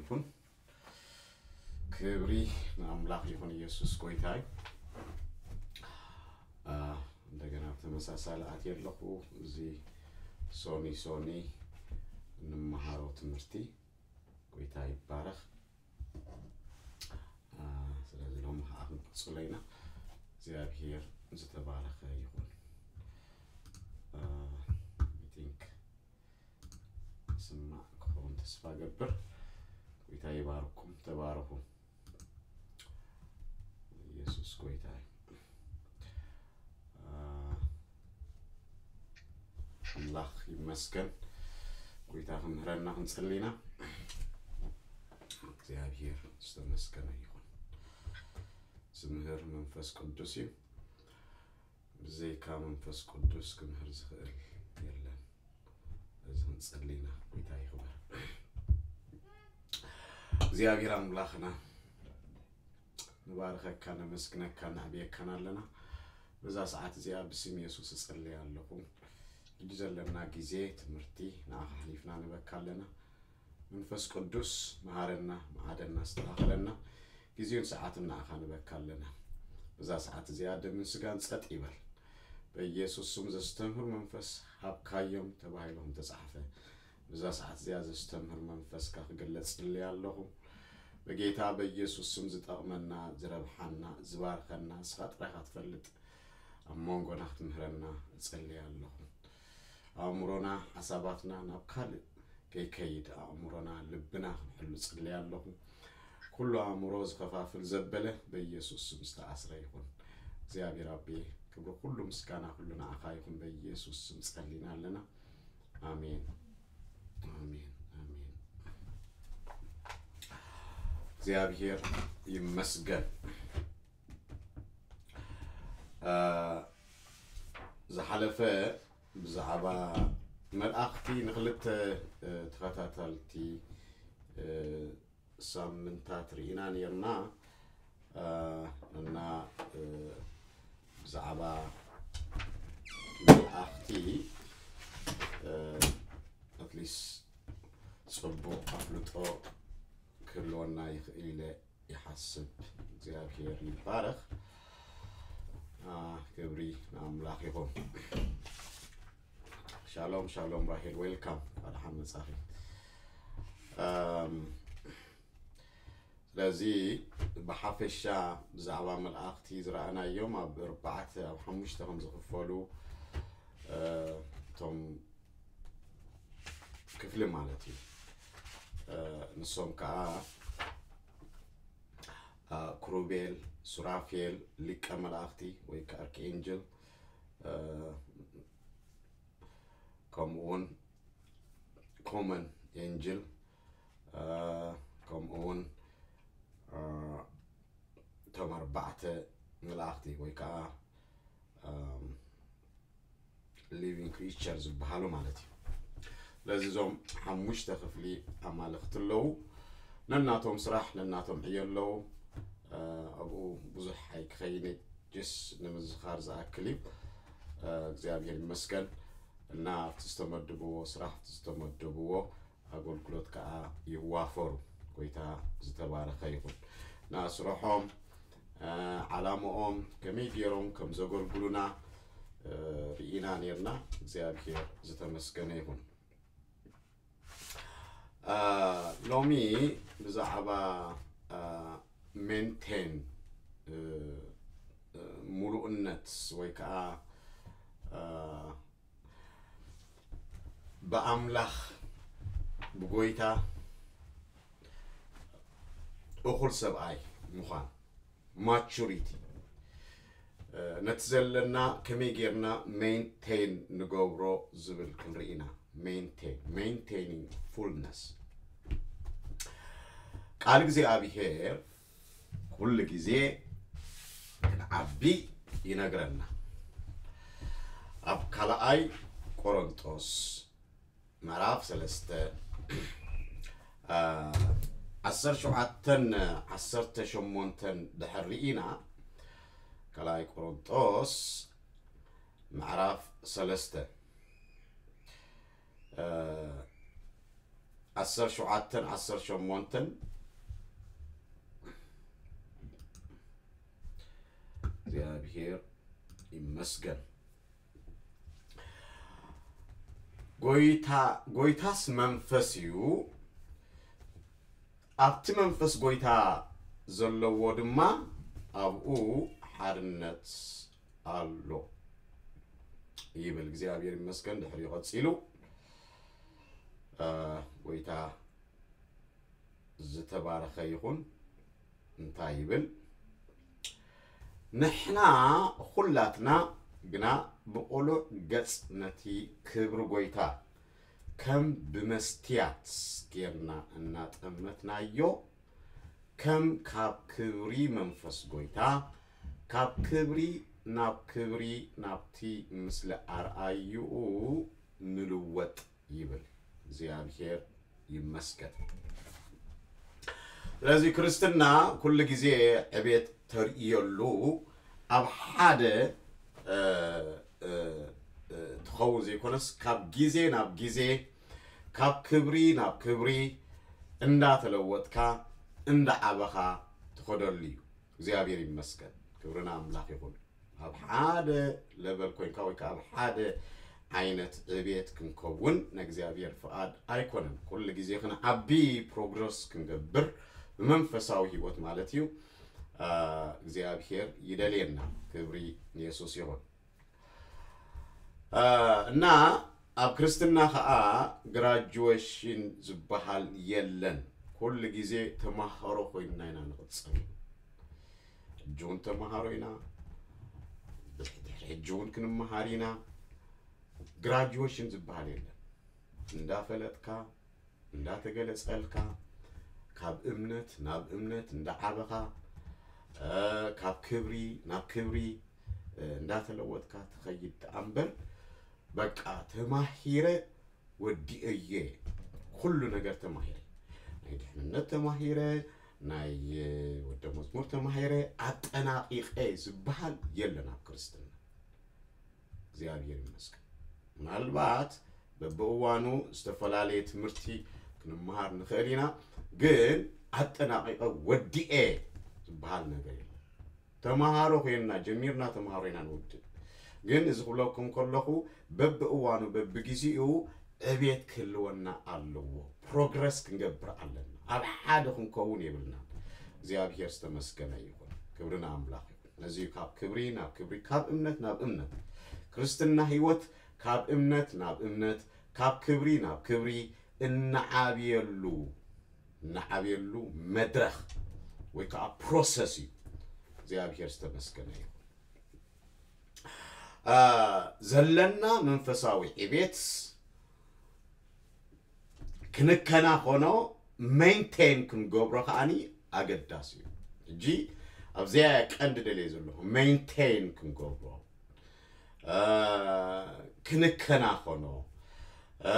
ይኹን። ክብሪ ንኣምላኽ ይኹን፣ ኢየሱስ ጎይታይ። አ፣ እንደገና ብተመሳሳሊ ኣትየ ኣለኹ። እዚ ሶኒ ሶኒ እንመሃሮ ትምህርቲ ጎይታ ይባረኽ። አ፣ ስለዚ ሎሚ ከዓ ክንቅጽሎ ኢና። እግዚኣብሔር ዝተባረኸ ይኹን። አ፣ I think ስማዕ ክኸውን ተስፋ ገብር። ጎይታ ይባርኩም፣ ተባረኹ። ኢየሱስ ጎይታ እዩ። አ፣ ኣምላኽ ይመስገን። ጎይታ ክምህረና ክንጽሊ ኢና። እግዚኣብሔር ዝተመስገነ ይኹን። ዝምህር መንፈስ ቅዱስ እዩ። ብዘይካ መንፈስ ቅዱስ ክምህር ዝኽእል የለን። እዚ ክንጽሊ ኢና። ጎይታ ይኽበር። እግዚኣብሔር ኣምላኽና ንባርኸካ፣ ነመስግነካ፣ ነዕብየካን ኣለና። በዛ ሰዓት እዚኣ ብስም የሱስ እጸልይ ኣለኹ። ሕጂ ዘለና ግዜ ትምህርቲ ንዓኻ ሓሊፍና ንበካ ኣለና። መንፈስ ቅዱስ መሃረና፣ መዓደና፣ ኣስተኻኽለና። ግዜን ሰዓትን ንዓኻ ንበካ ኣለና። በዛ ሰዓት እዚኣ ደምን ስጋን ጸጥ ይበል። በኢየሱስ ስም ዘስተምህር መንፈስ ሃብካዮም ተባሂሉ ከም ተጻሕፈ፣ በዛ ሰዓት እዚኣ ዘስተምህር መንፈስካ ክግለጽ ጽልይ ኣለኹ። በጌታ በኢየሱስ ስም ዝጠቕመና፣ ዝረብሓና፣ ዝባርኸና ንስኻ ጥራይ ኢኻ ትፈልጥ። ኣብ መንጎና ክትምህረና እጸልይ ኣለኹ። ኣእምሮና፣ ሓሳባትና ናብ ካልእ ከይከይድ ኣእምሮና፣ ልብና ክንሕሉ ጽልይ ኣለኹ። ኩሉ ኣእምሮ ዝኸፋፍል ዘበለ በኢየሱስ ስም ዝተኣስረ ይኹን። እግዚኣብሔር ኣቤ፣ ክብሪ ኩሉ ምስጋና ኩሉ ንዓኻ ይኹን። በኢየሱስ ስም ጸሊና ኣለና። ኣሜን፣ ኣሜን፣ ኣሜን። እግዚኣብሔር ይመስገን። አ፣ ዝሓለፈ ብዛዕባ መልኣኽቲ ንኽልተ፣ እ፣ ተኸታተልቲ፣ እ፣ ሳምንታት ርኢና ነርና። እ፣ እና፣ እ፣ ብዛዕባ መልኣኽቲ፣ እ፣ ኣትሊስት ጽቡቕ ኣፍልጦ ክህልወና ይኽእል ኢለ ይሓስብ። እግዚኣብሔር ይባረኽ። አ፣ ክብሪ ንኣምላኽ ይኹን። ሻሎም፣ ሻሎም ራሄል፣ ዌልካም። እንኳዕ ደሓን መጻኺ። ኣም፣ ስለዚ ብሓፈሻ ብዛዕባ መልኣኽቲ ዝረኣናዮም ኣብ ኣርባዕተ፣ ኣብ ሓሙሽተ ከም ዝኽፈሉ፣ እ፣ እቶም ክፍሊ ማለት እዩ። እ፣ ንሶም ከዓ፣ እ፣ ክሩቤል፣ ሱራፌል፣ ሊቀ መላእኽቲ ወይ ከዓ ኣርክኤንጅል፣ እ፣ ከምኡ እውን ኮመን ኤንጅል፣ እ፣ ከምኡ እውን፣ እ፣ እቶም ኣርባዕተ መላእኽቲ ወይ ከዓ፣ እም፣ ሊቪንግ ክሪቸር ዝበሃሉ ማለት እዩ። ስለዚ እዞም ሓሙሽተ ክፍሊ ኣማልኽቲ ኣለዉ። ነናቶም ስራሕ፣ ነናቶም ዕዮ ኣለዉ። እ፣ ኣብኡ ብዙሕ ኣይክኸይን፣ ጀስ ንምዝኻር ዝኣክል እዩ። እ፣ እግዚኣብሔር ይመስገን። እና ኣብቲ ዝተመደብዎ ስራሕ፣ ኣብቲ ዝተመደብዎ ኣገልግሎት ከዓ ይዋፈሩ። ጎይታ ዝተባረኸ ይኹን። እና ስርሖም፣ እ፣ ዓላምኦም፣ ከመይ ገይሮም ከም ዘገልግሉና፣ እ፣ ርኢና ነርና። እግዚኣብሔር ዝተመስገነ ይኹን። እ፣ ሎሚ ብዛዕባ፣ እ፣ ሜንቴን፣ እ፣ እ፣ ሙሉእነት ወይ ከዓ፣ እ፣ ብኣምላኽ፣ ብጎይታ እኹል ሰብኣይ ምዃን፣ ማቹሪቲ፣ እ፣ ነቲ ዘለና ከመይ ጌርና ሜንቴን ንገብሮ ዝብል ክንርኢ ኢና። ሜንቴን፣ ሜንቴኒንግ ፉልነስ። ቃል እግዚኣብሔር ኩሉ ግዜ ክንዓቢ ይነግረና። ኣብ ካልኣይ ቆሮንጦስ ምዕራፍ ሰለስተ፣ አ፣ ዓሰርተ ሸውዓተን ዓሰርተ ሸሞንተን ድሕር ርኢና፣ ካልኣይ ቆሮንጦስ ምዕራፍ ሰለስተ፣ አ፣ ዓሰርተ ሸውዓተን ዓሰርተ ሸሞንተን። እግዚኣብሔር ይመስገን። ጎይታ፣ ጎይታስ መንፈስ እዩ፣ ኣብቲ መንፈስ ጎይታ ዘለዎ ድማ ኣብኡ ሓርነት ኣሎ ይብል። እግዚኣብሔር ይመስገን። ድሕሪኡ ቀጺሉ፣ እ፣ ጎይታ ዝተባረኸ ይኹን። እንታይ ይብል? ንሕና ኹላትና ግና ብቕሉዕ ገጽ ነቲ ክብሪ ጎይታ ከም ብመስትያት ጌርና እናጠመትናዮ፣ ከም ካብ ክብሪ መንፈስ ጎይታ፣ ካብ ክብሪ ናብ ክብሪ፣ ናብቲ ምስሊ ኣርኣይኡ ንልወጥ ይብል። እግዚኣብሔር ይመስገን። ስለዚ ክርስትና ኩሉ ግዜ ዕቤት ተርእየሉ ኣብ ሓደ፣ እ፣ እ፣ እ፣ ትኸውን ዘይኮነስ፣ ካብ ግዜ ናብ ግዜ፣ ካብ ክብሪ ናብ ክብሪ እንዳተለወጥካ፣ እንዳዓበኻ ትኸደሉ እዩ። እግዚኣብሔር ይመስገን። ክብሪ ንኣምላኽ ይኹን። ኣብ ሓደ ለቨል ኮይንካ ወይ ከዓ ኣብ ሓደ ዓይነት ዕቤት ክንከውን ናይ እግዚኣብሔር ፍቓድ ኣይኮነን። ኩሉ ግዜ ክንዓቢ፣ ፕሮግረስ ክንገብር ብመንፈሳዊ ህይወት ማለት እዩ፣ አ፣ እግዚኣብሔር ይደልየና። ክብሪ ንየሱስ ይኹን። አ፣ እና ኣብ ክርስትና ኸዓ ግራጁዌሽን ዝበሃል የለን። ኩሉ ግዜ ተማሃሮ ኮይንና ኢና ንቕጽል። ሕጂ እውን ተማሃሮ ኢና። ድሕሪ ሕጂ እውን ክንመሃር ኢና። ግራጁዌሽን ዝበሃል የለን። እንዳፈለጥካ፣ እንዳተገለጸልካ፣ ካብ እምነት ናብ እምነት እንዳዓበኻ፣ እ፣ ካብ ክብሪ ናብ ክብሪ፣ እ፣ እንዳተለወጥካ ትኸይድ ደኣ እምበር፣ በቃ ተማሂረ ወዲኤ እየ፣ ኩሉ ነገር ተማሂረ፣ ናይ ድሕንነት ተማሂረ፣ ናይ፣ እ፣ ወደ መዝሙር ተማሂረ፣ ኣጠናቒቐ ዝበሃል የለን ኣብ ክርስትና። እግዚኣብሔር ይመስገን። ምናልባት በብእዋኑ ዝተፈላለየ ትምህርቲ ክንመሃር ንኽእል ኢና፣ ግን ኣጠናቒቐ ወዲኤ ዝበሃል ነገር የለን። ተምሃሮ ኮይንና ጀሚርና ተምሃሮ ኢና ንውድእ። ግን እዚ ክብለኩም ከለኹ በብእዋኑ በብግዜኡ ዕቤት ክህልወና ኣለዎ። ፕሮግረስ ክንገብር ኣለና። ኣብ ሓደ ክንከውን የብልናን። እግዚኣብሔር ዝተመስገነ ይኹን። ክብሪ ንኣምላኽ ይኹን። ነዚ እዩ ካብ ክብሪ ናብ ክብሪ፣ ካብ እምነት ናብ እምነት። ክርስትና ህይወት ካብ እምነት ናብ እምነት፣ ካብ ክብሪ ናብ ክብሪ እንዓብየሉ፣ እንዓብየሉ መድረኽ ወይ ከዓ ፕሮሰስ እዩ። እግዚኣብሔር ዝተመስገነ ይኹን። አ፣ ዘለና መንፈሳዊ ዕቤት ክንከናኸኖ፣ ሜንቴን ክንገብሮ ከዓኒ ኣገዳሲ እዩ። ሕጂ ኣብዚኣ ቀንዲ ደልየ ዘለኹ፣ ሜንቴን ክንገብሮ፣ አ፣ ክንከናኸኖ፣ አ፣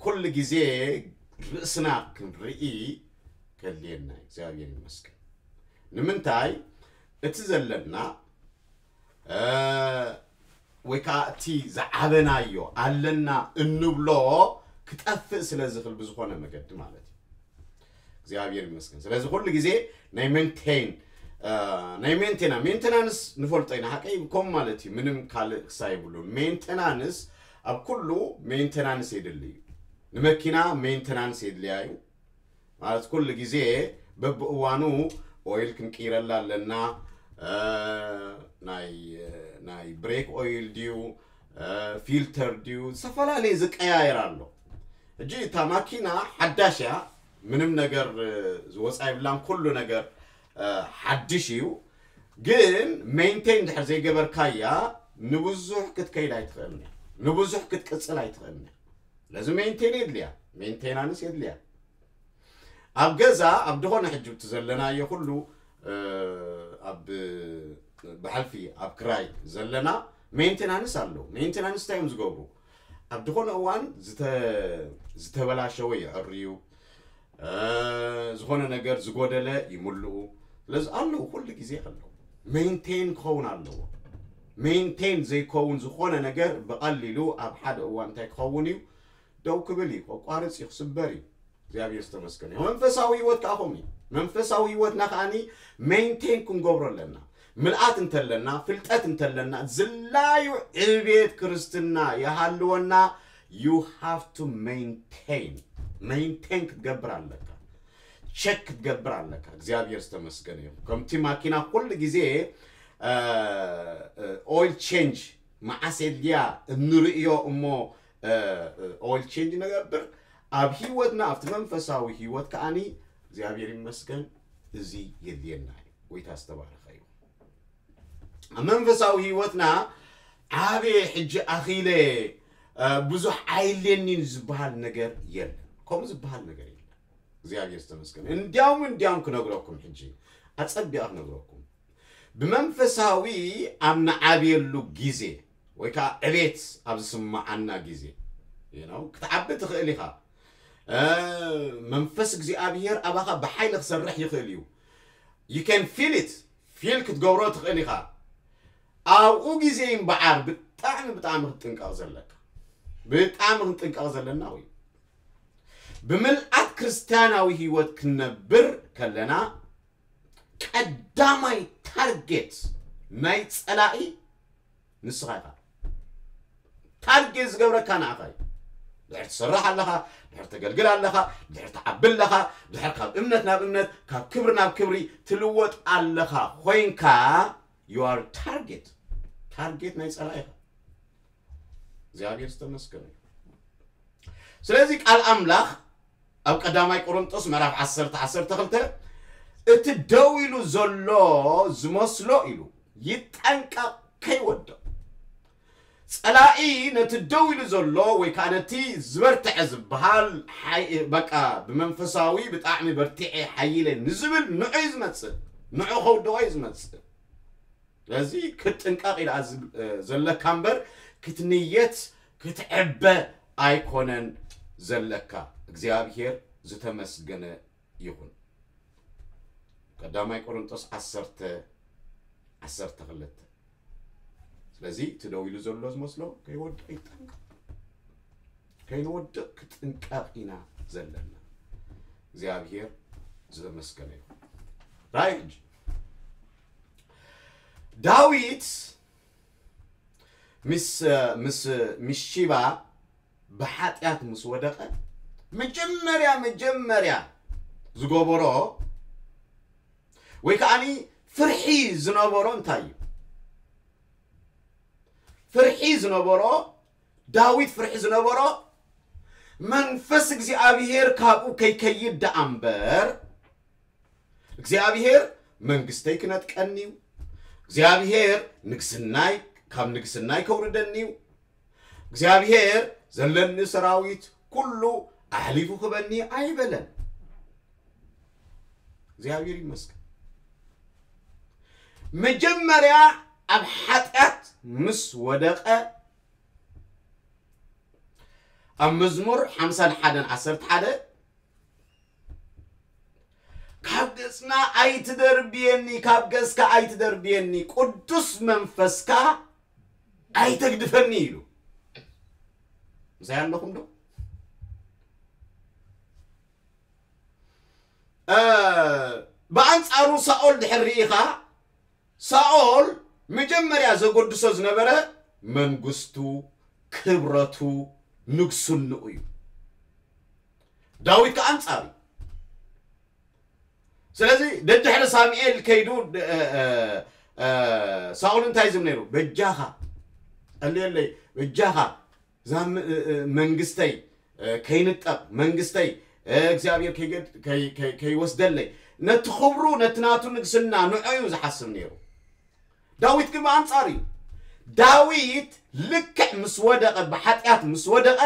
ኩሉ ግዜ ርእስና ክንርኢ ከድልየና እዩ። እግዚኣብሔር ይመስገን። ንምንታይ? እቲ ዘለና፣ እ፣ ወይ ከዓ እቲ ዝዓበናዮ ኣለና እንብሎ ክጠፍእ ስለ ዝኽእል ብዝኾነ መገዲ ማለት እዩ። እግዚኣብሔር ይመስገን። ስለዚ ኩሉ ግዜ ናይ ሜንቴን፣ እ፣ ናይ ሜንቴና-፣ ሜንቴናንስ ንፈልጦ ኢና፣ ሓቀይ ከምኡ ማለት እዩ። ምንም ካልእ ክሳ የብሉን። ሜንቴናንስ ኣብ ኩሉ ሜንቴናንስ የድሊ እዩ። ንመኪና ሜንቴናንስ የድልያ እዩ። ማለት ኩሉ ግዜ በብእዋኑ ኦይል ክንቅይረላ ኣለና። እ፣ ናይ፣ ናይ ብሬክ ኦይል ድዩ፣ እ፣ ፊልተር ድዩ፣ ዝተፈላለየ ዝቀያየር ኣሎ። ሕጂ እታ ማኪና ሓዳሽ እያ፣ ምንም ነገር፣ እ፣ ዝወፃ የብላን፣ ኩሉ ነገር፣ እ፣ ሓድሽ እዩ። ግን ሜንቴን ድሕር ዘይገበርካያ ንብዙሕ ክትከይድ ኣይትኽእልን እያ፣ ንብዙሕ ክትቅፅል ኣይትኽእልን እያ። ስለዚ ሜንቴን የድልያ፣ ሜንቴናንስ የድልያ። ኣብ ገዛ፣ ኣብ ድኾነ ሕጂ እቲ ዘለናዮ ኩሉ፣ እ፣ ኣብ ብሓልፊ ኣብ ክራይ ዘለና ሜንቴናንስ ኣለዉ። ሜንቴናንስ እንታይ እዮም ዝገብሩ? ኣብ ድኾነ እዋን ዝተ-፣ ዝተበላሸወ የዕርዩ፣ እ፣ ዝኾነ ነገር ዝጎደለ ይምልኡ። ስለዚ ኣለዉ፣ ኩሉ ግዜ ኣለዉ። ሜንቴን ክኸውን ኣለዎ። ሜንቴን ዘይከውን ዝኾነ ነገር ብቐሊሉ ኣብ ሓደ እዋን እንታይ ክኸውን እዩ? ደው ክብል እዩ፣ ከቋርጽ እዩ፣ ክስበር እዩ። እግዚኣብሔር ዝተመስገነ ይሁን። መንፈሳዊ ህይወት ከዓ ከምኡ እዩ። መንፈሳዊ ህይወትና ከዓኒ ሜንቴን ክንገብሮ ኣለና። ምልኣት እንተለና፣ ፍልጠት እንተለና፣ ዝላዩ ዕቤት ክርስትና ይሃልወና። You have to maintain. ሜንቴን ክትገብር ኣለካ። ቸክ ክትገብር ኣለካ። እግዚኣብሔር ዝተመስገነ ይሁን። ከምቲ ማኪና ኩሉ ግዜ ኦይል ቼንጅ መዓስ የድልያ እንርእዮ እሞ ኦይል ቼንጅ ንገብር። ኣብ ህይወትና ኣብቲ መንፈሳዊ ህይወት ከዓኒ እግዚኣብሔር ይመስገን እዚ የድልየና እዩ። ጎይታ ዝተባረኸ እዩ። ኣብ መንፈሳዊ ህይወትና ዓብየ ሕጂ ኣኺለ ብዙሕ ኣይድልየኒን ዝበሃል ነገር የለን። ከምኡ ዝበሃል ነገር የለን። እግዚኣብሔር ዝተመስገነ። እንዲያውም እንዲያውም ክነግረኩም ሕጂ ኣጸቢቐ ክነግረኩም ብመንፈሳዊ ኣብ ንዓብየሉ ግዜ ወይ ከዓ ዕቤት ኣብ ዝስምዓና ግዜ you know ክትዓቢ ትኽእል ኢኻ። መንፈስ እግዚኣብሔር ኣባኻ ብሓይሊ ክሰርሕ ይኽእል እዩ። You can feel it. ፊል ክትገብሮ ትኽእል ኢኻ። ኣብኡ ግዜ እምበዓር ብጣዕሚ ብጣዕሚ ክትጥንቀቕ ዘለካ ብጣዕሚ ክንጥንቀቕ ዘለና እዩ። ብምልኣት ክርስትያናዊ ህይወት ክንነብር ከለና ቀዳማይ ታርጌት ናይ ጸላኢ ንስኻ ኢኻ። ታርጌት ዝገብረካ ንኣኻ እዩ። ድሕር ትሰርሕ ኣለኻ፣ ድሕር ተገልግል ኣለኻ፣ ድሕር ትዓቢ ኣለኻ፣ ድሕር ካብ እምነት ናብ እምነት ካብ ክብሪ ናብ ክብሪ ትልወጥ ኣለኻ ኮይንካ you are target። ታርጌት ናይ ጸላኢኻ። እግዚኣብሔር ዝተመስገነ እዩ። ስለዚ ቃል ኣምላኽ ኣብ ቀዳማይ ቆሮንጦስ ምዕራፍ ዓሰርተ ዓሰርተ ክልተ እቲ ደው ኢሉ ዘሎ ዝመስሎ ኢሉ ይጠንቀቕ ከይወድቕ። ጸላኢ ነቲ ደው ኢሉ ዘሎ ወይ ከዓ ነቲ ዝበርትዐ ዝበሃል ሓይ- በቃ ብመንፈሳዊ ብጣዕሚ በርቲዐ ሓይለ ንዝብል ንዑ እዩ ዝመጽእ። ንዑ ከውድቖ እዩ ዝመጽእ። ስለዚ ክትጥንቀቕ ኢልኣ ዘለካ እምበር ክትንየት ክትዕበ ኣይኮነን ዘለካ። እግዚኣብሔር ዝተመስገነ ይኹን። ቀዳማይ ቆሮንጦስ ዓሰርተ ዓሰርተ ክልተ። ስለዚ እቲ ደው ኢሉ ዘሎ ዝመስሎ ከይወድቕ ይጠንቀቕ። ከይንወድቕ ክጥንቀቕ ኢና ዘለና። እግዚኣብሔር ዝተመስገነ ይኹን። ራእይ ሕጂ ዳዊት ምስ ምስ ምስ ሺባ ብሓጢኣት ምስ ወደቐ መጀመርያ መጀመርያ ዝገበሮ ወይ ከዓኒ ፍርሒ ዝነበሮ እንታይ እዩ? ፍርሒ ዝነበሮ ዳዊት ፍርሒ ዝነበሮ መንፈስ እግዚኣብሔር ካብኡ ከይከይድ ደኣ እምበር እግዚኣብሔር መንግስተይ ክነጥቀኒ እዩ፣ እግዚኣብሔር ንግስናይ ካብ ንግስናይ ከውርደኒ እዩ፣ እግዚኣብሔር ዘለኒ ሰራዊት ኩሉ ኣሕሊፉ ክበኒ ኣይበለን። እግዚኣብሔር ይመስገን። መጀመርያ ኣብ ሓጢኣት ምስ ወደቐ ኣብ መዝሙር ሓምሳን ሓደን ዓሰርተ ሓደ ካብ ገጽና ኣይትደርብየኒ፣ ካብ ገጽካ ኣይትደርብየኒ፣ ቅዱስ መንፈስካ ኣይተግድፈኒ ኢሉ። ምሳይ ኣለኹም ዶ? ብኣንጻሩ ሳኦል ድሕር ርኢኻ ሳኦል መጀመርያ ዘጎድሶ ዝነበረ መንግስቱ፣ ክብረቱ፣ ንግስንኡ እዩ። ዳዊት ከኣ ኣንጻሩ። ስለዚ ደድሕሪ ሳሙኤል ከይዱ ሳኦል እንታይ ዝብል ነይሩ? በጃኻ ጸልየለይ፣ በጃኻ እዛ መንግስተይ ከይንጠቕ መንግስተይ እግዚኣብሔር ከይወስደለይ ነቲ ክብሩ ነቲ ናቱ ንግስና ንዑ እዩ ዝሓስብ ነይሩ። ዳዊት ግን ብኣንጻር እዩ። ዳዊት ልክዕ ምስ ወደቐ ብሓጢኣት ምስ ወደቐ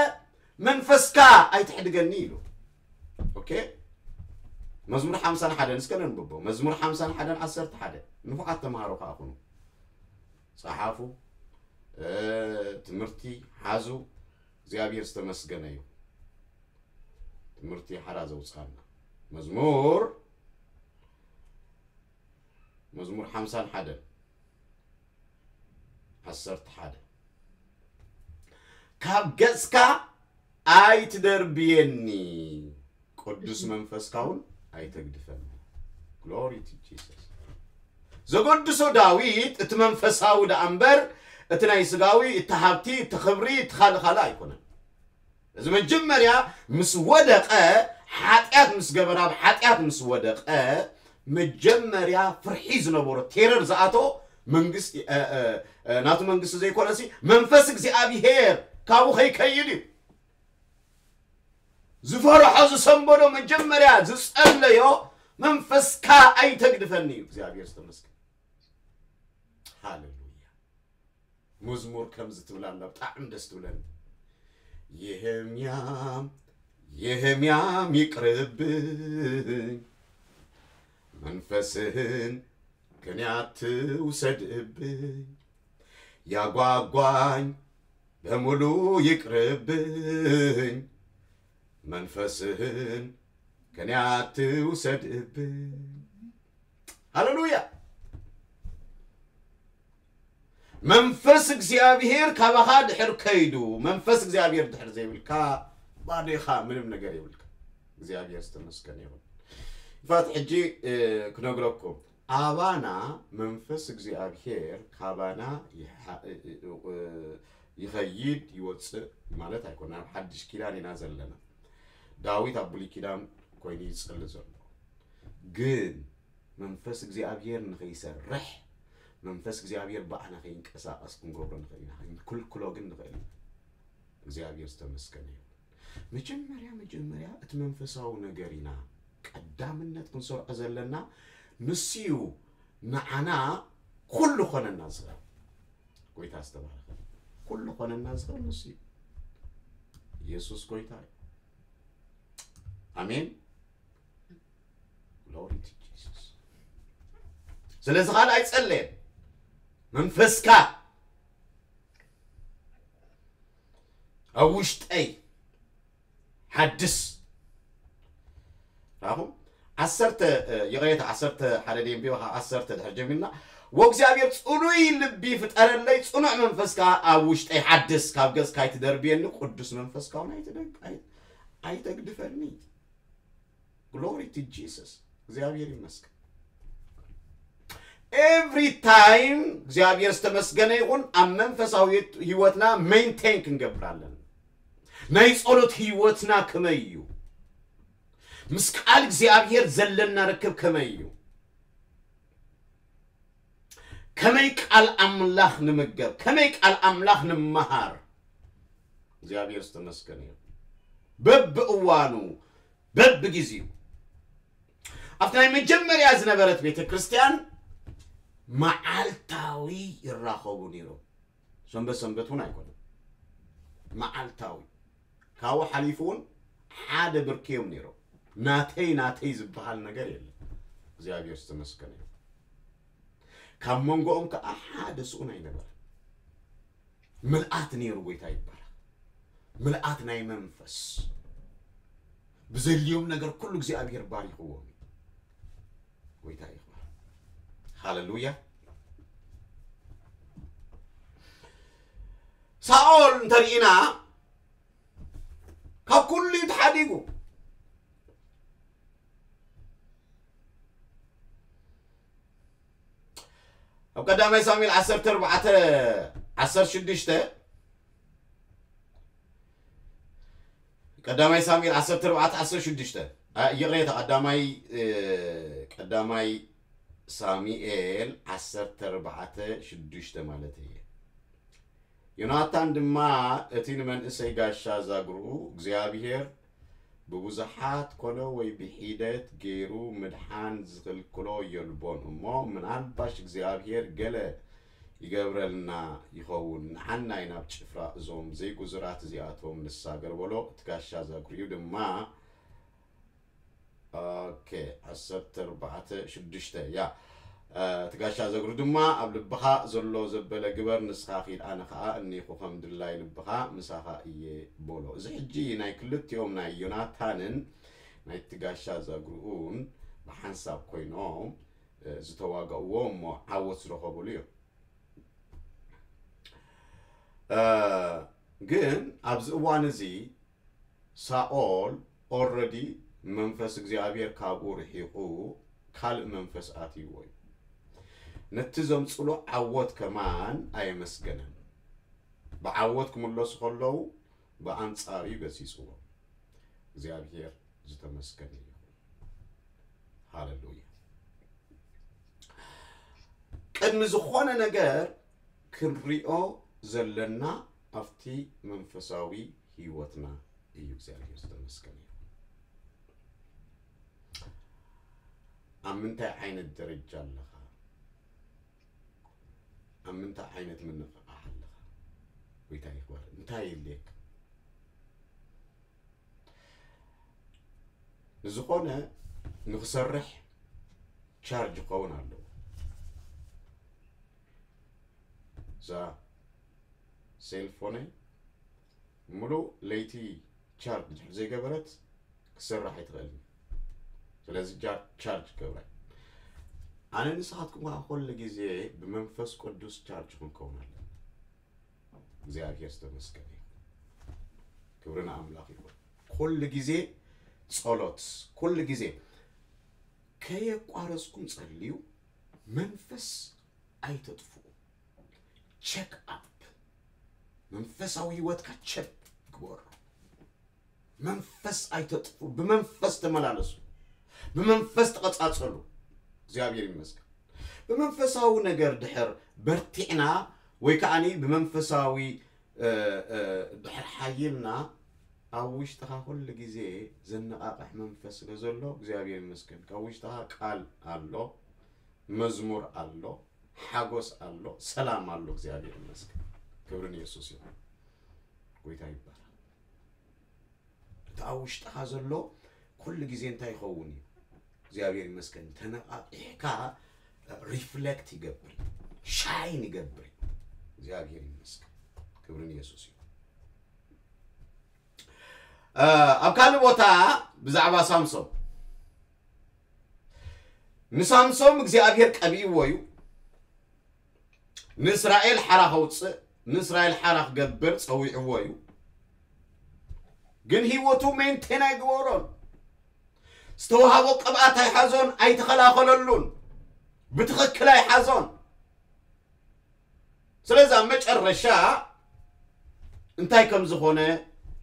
መንፈስካ ኣይትሕድገኒ ኢሉ። ኦኬ መዝሙር ሓምሳን ሓደን እስከ ነንብቦ። መዝሙር ሓምሳን ሓደን ዓሰርተ ሓደ ንፉዓት ተምሃሮ ከኣ ኩኑ ጸሓፉ ትምህርቲ ሓዙ። እግዚኣብሔር ዝተመስገነ እዩ። ትምህርቲ ሓራ ዘውፅኣና መዝሙር መዝሙር ሓምሳን ሓደን ዓሰርተ ሓደ ካብ ገፅካ ኣይትደርብየኒ፣ ቅዱስ መንፈስካ እውን ኣይተግድፈኒ። Glory to Jesus። ዘገድሶ ዳዊት እቲ መንፈሳዊ ደኣ እምበር እቲ ናይ ስጋዊ፣ እቲ ሃብቲ፣ እቲ ክብሪ፣ እቲ ካልእ ካልእ ኣይኮነን። እዚ መጀመርያ ምስ ወደቐ፣ ሓጢኣት ምስ ገበረ፣ ኣብ ሓጢኣት ምስ ወደቐ፣ መጀመርያ ፍርሒ ዝነበሮ፣ ቴረር ዝኣቶ መንግስቲ፣ እ፣ እ፣ እ፣ ናቱ መንግስቲ ዘይኮነሲ መንፈስ እግዚኣብሄር ካብኡ ከይከይድ እዩ። ዝፈርሖ ዝሰንበዶ መጀመርያ ዝጸለዮ መንፈስካ ኣይተግድፈኒ እዩ። እግዚኣብሔር ዝተመስገን። ሃሌሉያ። መዝሙር ከምዚ ትብል ኣላ፣ ብጣዕሚ ደስ ትብለኒ። የህምያም የህምያም ይቅርብኝ፣ መንፈስህን ከኔ አትውሰድብኝ። ያጓጓኝ በሙሉ ይቅርብኝ፣ መንፈስህን ከኔ አትውሰድብኝ። ሃሌሉያ። መንፈስ እግዚኣብሔር ካባኻ ድሕር ከይዱ፣ መንፈስ እግዚኣብሔር ድሕር ዘይብልካ ባዶ ኢኻ፣ ምንም ነገር የብልካ። እግዚኣብሔር ዝተመስገነ ይኹን። ይፋት ሕጂ፣ እ፣ ክነግረኩም፣ ኣባና መንፈስ እግዚኣብሔር ካባና ይሓ-፣ እ፣ እ፣ እ፣ ይኸይድ ይወፅእ ማለት ኣይኮነ። ኣብ ሓድሽ ኪዳን ኢና ዘለና። ዳዊት ኣብ ብሉይ ኪዳን ኮይኑ ይፅሊ ዘሎ። ግን መንፈስ እግዚኣብሔር ንኸይሰርሕ፣ መንፈስ እግዚኣብሔር ብኣና ከይንቀሳቐስ ክንገብሮ ንኽእል ኢና። ክንክልክሎ ግን ንኽእል ኢና። እግዚኣብሔር ዝተመስገነ ይሁን። መጀመርያ፣ መጀመርያ እቲ መንፈሳዊ ነገር ኢና ቀዳምነት ክንሰርዖ ዘለና። ንሱ እዩ ንዓና ኩሉ ኾነና ዝኽእል። ጎይታ ዝተባረኸ። ኩሉ ኾነና ዝኽእል ንሱ እዩ። ኢየሱስ ጎይታ እዩ። ኣሜን። Glory to Jesus። ስለዚ ካልእ ኣይጸለየን። መንፈስካ ኣብ ውሽጠይ ሓድስ። ራኹም ዓሰርተ፣ እ፣ ይቕሬታ፣ ዓሰርተ ሓደ ደንቢዮ፣ ካብ ዓሰርተ ድሕር ጀሚርና፣ "ወእግዚኣብሔር ጽኑይ ልቢ ፍጠረለይ፣ ጽኑዕ መንፈስ ከኣ ኣብ ውሽጠይ ሓድስ፣ ካብ ገጽካ ኣይትደርብየኒ፣ ቅዱስ መንፈስካ እውን ኣይትደግ-፣ ኣይ-፣ ኣይተግድፈኒ." Glory to Jesus። እግዚኣብሔር ይመስገን። Every time እግዚኣብሔር ዝተመስገነ ይኹን፣ ኣብ መንፈሳዊ ህይወትና ሜንቴን ክንገብር ኣለና። ናይ ጸሎት ህይወትና ከመይ እዩ? ምስ ቃል እግዚኣብሔር ዘለና ርክብ ከመይ እዩ? ከመይ ቃል ኣምላኽ ንምገብ? ከመይ ቃል ኣምላኽ ንምሃር? እግዚኣብሔር ዝተመስገነ እዩ። በብእዋኑ፣ በብግዜኡ። ኣብቲ ናይ መጀመርያ ዝነበረት ቤተ ክርስቲያን መዓልታዊ ይራኸቡ ነይሮም። ሰንበት ሰንበት እውን ኣይኮነን። መዓልታዊ። ካብኡ ሓሊፉ እውን ሓደ ብርኪ እዮም ነይሮም። ናተይ፣ ናተይ ዝበሃል ነገር የለን። እግዚኣብሔር ዝተመስገነ እዩ። ካብ መንጎኦም ከዓ ሓደ ስኡን ኣይነበረን። ምልኣት ነይሩ፣ ጎይታ ይባረክ። ምልኣት ናይ መንፈስ። ብዘድልዮም ነገር ኩሉ እግዚኣብሔር ባሪኽዎም እዩ። ጎይታ ይኽበር። ሃሌሉያ። ሳኦል እንተርኢና ካብ ኩሉ እዩ ተሓዲጉ። ኣብ ቀዳማይ ሳሙኤል ዓሰርተ ኣርባዕተ ዓሰርተ ሽዱሽተ፣ ቀዳማይ ሳሙኤል ዓሰርተ ኣርባዕተ ዓሰርተ ሽዱሽተ፣ ኣ፣ ይቕሬታ፣ ቀዳማይ፣ እ፣ ቀዳማይ ሳሙኤል ዓሰርተ ኣርባዕተ ሽዱሽተ ማለት እየ። ዮናታን ድማ እቲ ንመንእሰይ ጋሻ ዛግርኡ እግዚኣብሔር ብብዙሓት ኮነ ወይ ብሒደት ገይሩ ምድሓን ዝኽልክሎ የልቦን እሞ፣ ምናልባሽ እግዚኣብሔር ገለ ይገብረልና ይኸውን፣ ንዓናይ ናብ ጭፍራ እዞም ዘይጉዙራት እዚኣቶም ንሳገር በሎ። እቲ ጋሻ ዛግርኡ ድማ ኦኬ፣ ዓሰርተ ኣርባዕተ ሽዱሽተ፣ ያ። እ፣ እቲ ጋሻ ዘግሩ ድማ ኣብ ልብኻ ዘሎ ዘበለ ግበር፣ ንስኻ ኪድ፣ ኣነ ኸኣ እኒኹ፣ ከም ድላይ ልብኻ ምሳኻ እየ በሎ። እዚ ሕጂ ናይ ክልቲኦም ናይ ዮናታንን ናይቲ ጋሻ ዘግሩኡን ብሓንሳብ ኮይኖም፣ እ፣ ዝተዋጋእዎ እሞ ዓወት ዝረኸብሉ እዮም። እ፣ ግን ኣብዚ እዋን እዚ ሳኦል ኦረዲ መንፈስ እግዚኣብሔር ካብኡ ርሒቑ ካልእ መንፈስ ኣትይዎ እዩ። ነቲ ዘምጽሎ ዓወት ከማን ኣየመስገነን። ብዓወት ክምለሱ ከለዉ ብኣንጻሩ እዩ ገሲጽዎ። እግዚኣብሔር ዝተመስገነ ይኹን። ሃለሉያ። ቅድሚ ዝኾነ ነገር ክንሪኦ ዘለና ኣብቲ መንፈሳዊ ህይወትና እዩ። እግዚኣብሔር ዝተመስገነ ይኹን። ኣብ ምንታይ ዓይነት ደረጃ ኣለኻ? ኣብ ምንታይ ዓይነት ምንቕቓሕ ኣለኻ? ጎይታ ይኽበር። እንታይ የድልየካ? ንዝኾነ ንክሰርሕ ቻርጅ ክኸውን ኣለዎ። እዛ ሴልፎነይ ሙሉእ ለይቲ ቻርጅ ድሕር ዘይገበረት ክሰርሕ ኣይትኽእልን። ስለዚ ቻርጅ ገብረ ኣነ ንስኻትኩም ከዓ ኩሉ ግዜ ብመንፈስ ቅዱስ ቻርጅ ክንከውን ኣለና። እግዚኣብሔር ዝተመስገነ ይኹን። ክብሪ ንኣምላኽ ይኹን። ኩሉ ግዜ ጸሎት፣ ኩሉ ግዜ ከየቋረጽኩም ጸልዩ። መንፈስ ኣይተጥፍኡ። ቸክ ኣፕ መንፈሳዊ ህይወትካ ቸክ ግበሩ። መንፈስ ኣይተጥፉ፣ ብመንፈስ ተመላለሱ፣ ብመንፈስ ተቐጻጸሉ። እግዚኣብሔር ይመስገን። ብመንፈሳዊ ነገር ድሕር በርቲዕና ወይ ከዓኒ ብመንፈሳዊ ድሕር ሓይልና ኣብ ውሽጥኻ ኩሉ ግዜ ዘነቓቕሕ መንፈስ ስለ ዘሎ እግዚኣብሔር ይመስገን። ካብ ውሽጥኻ ቃል ኣሎ፣ መዝሙር ኣሎ፣ ሓጎስ ኣሎ፣ ሰላም ኣሎ። እግዚኣብሔር ይመስገን። ክብሪ ንየሱስ ይኹን። ጎይታ ይባረክ። እቲ ኣብ ውሽጥኻ ዘሎ ኩሉ ግዜ እንታይ ይኸውን እዩ? እግዚኣብሔር ይመስገን። ተነቓቂሕካ ሪፍሌክት ይገብር፣ ሻይን ይገብር። እግዚኣብሔር ይመስገን። ክብሪ ንየሱስ ይኹን። ኣብ ካልእ ቦታ ብዛዕባ ሳምሶም፣ ንሳምሶም እግዚኣብሔር ቀቢእዎ እዩ። ንእስራኤል ሓራ ከውፅእ፣ ንእስራኤል ሓራ ክገብር ፀዊዕዎ እዩ። ግን ህይወቱ ሜንቴን ኣይግበሮን። ዝተዋሃቦ ቅብኣት ኣይሓዞን፣ ኣይተኸላኸለሉን፣ ብትኽክል ኣይሓዞን። ስለዚ ኣብ መጨረሻ እንታይ ከም ዝኾነ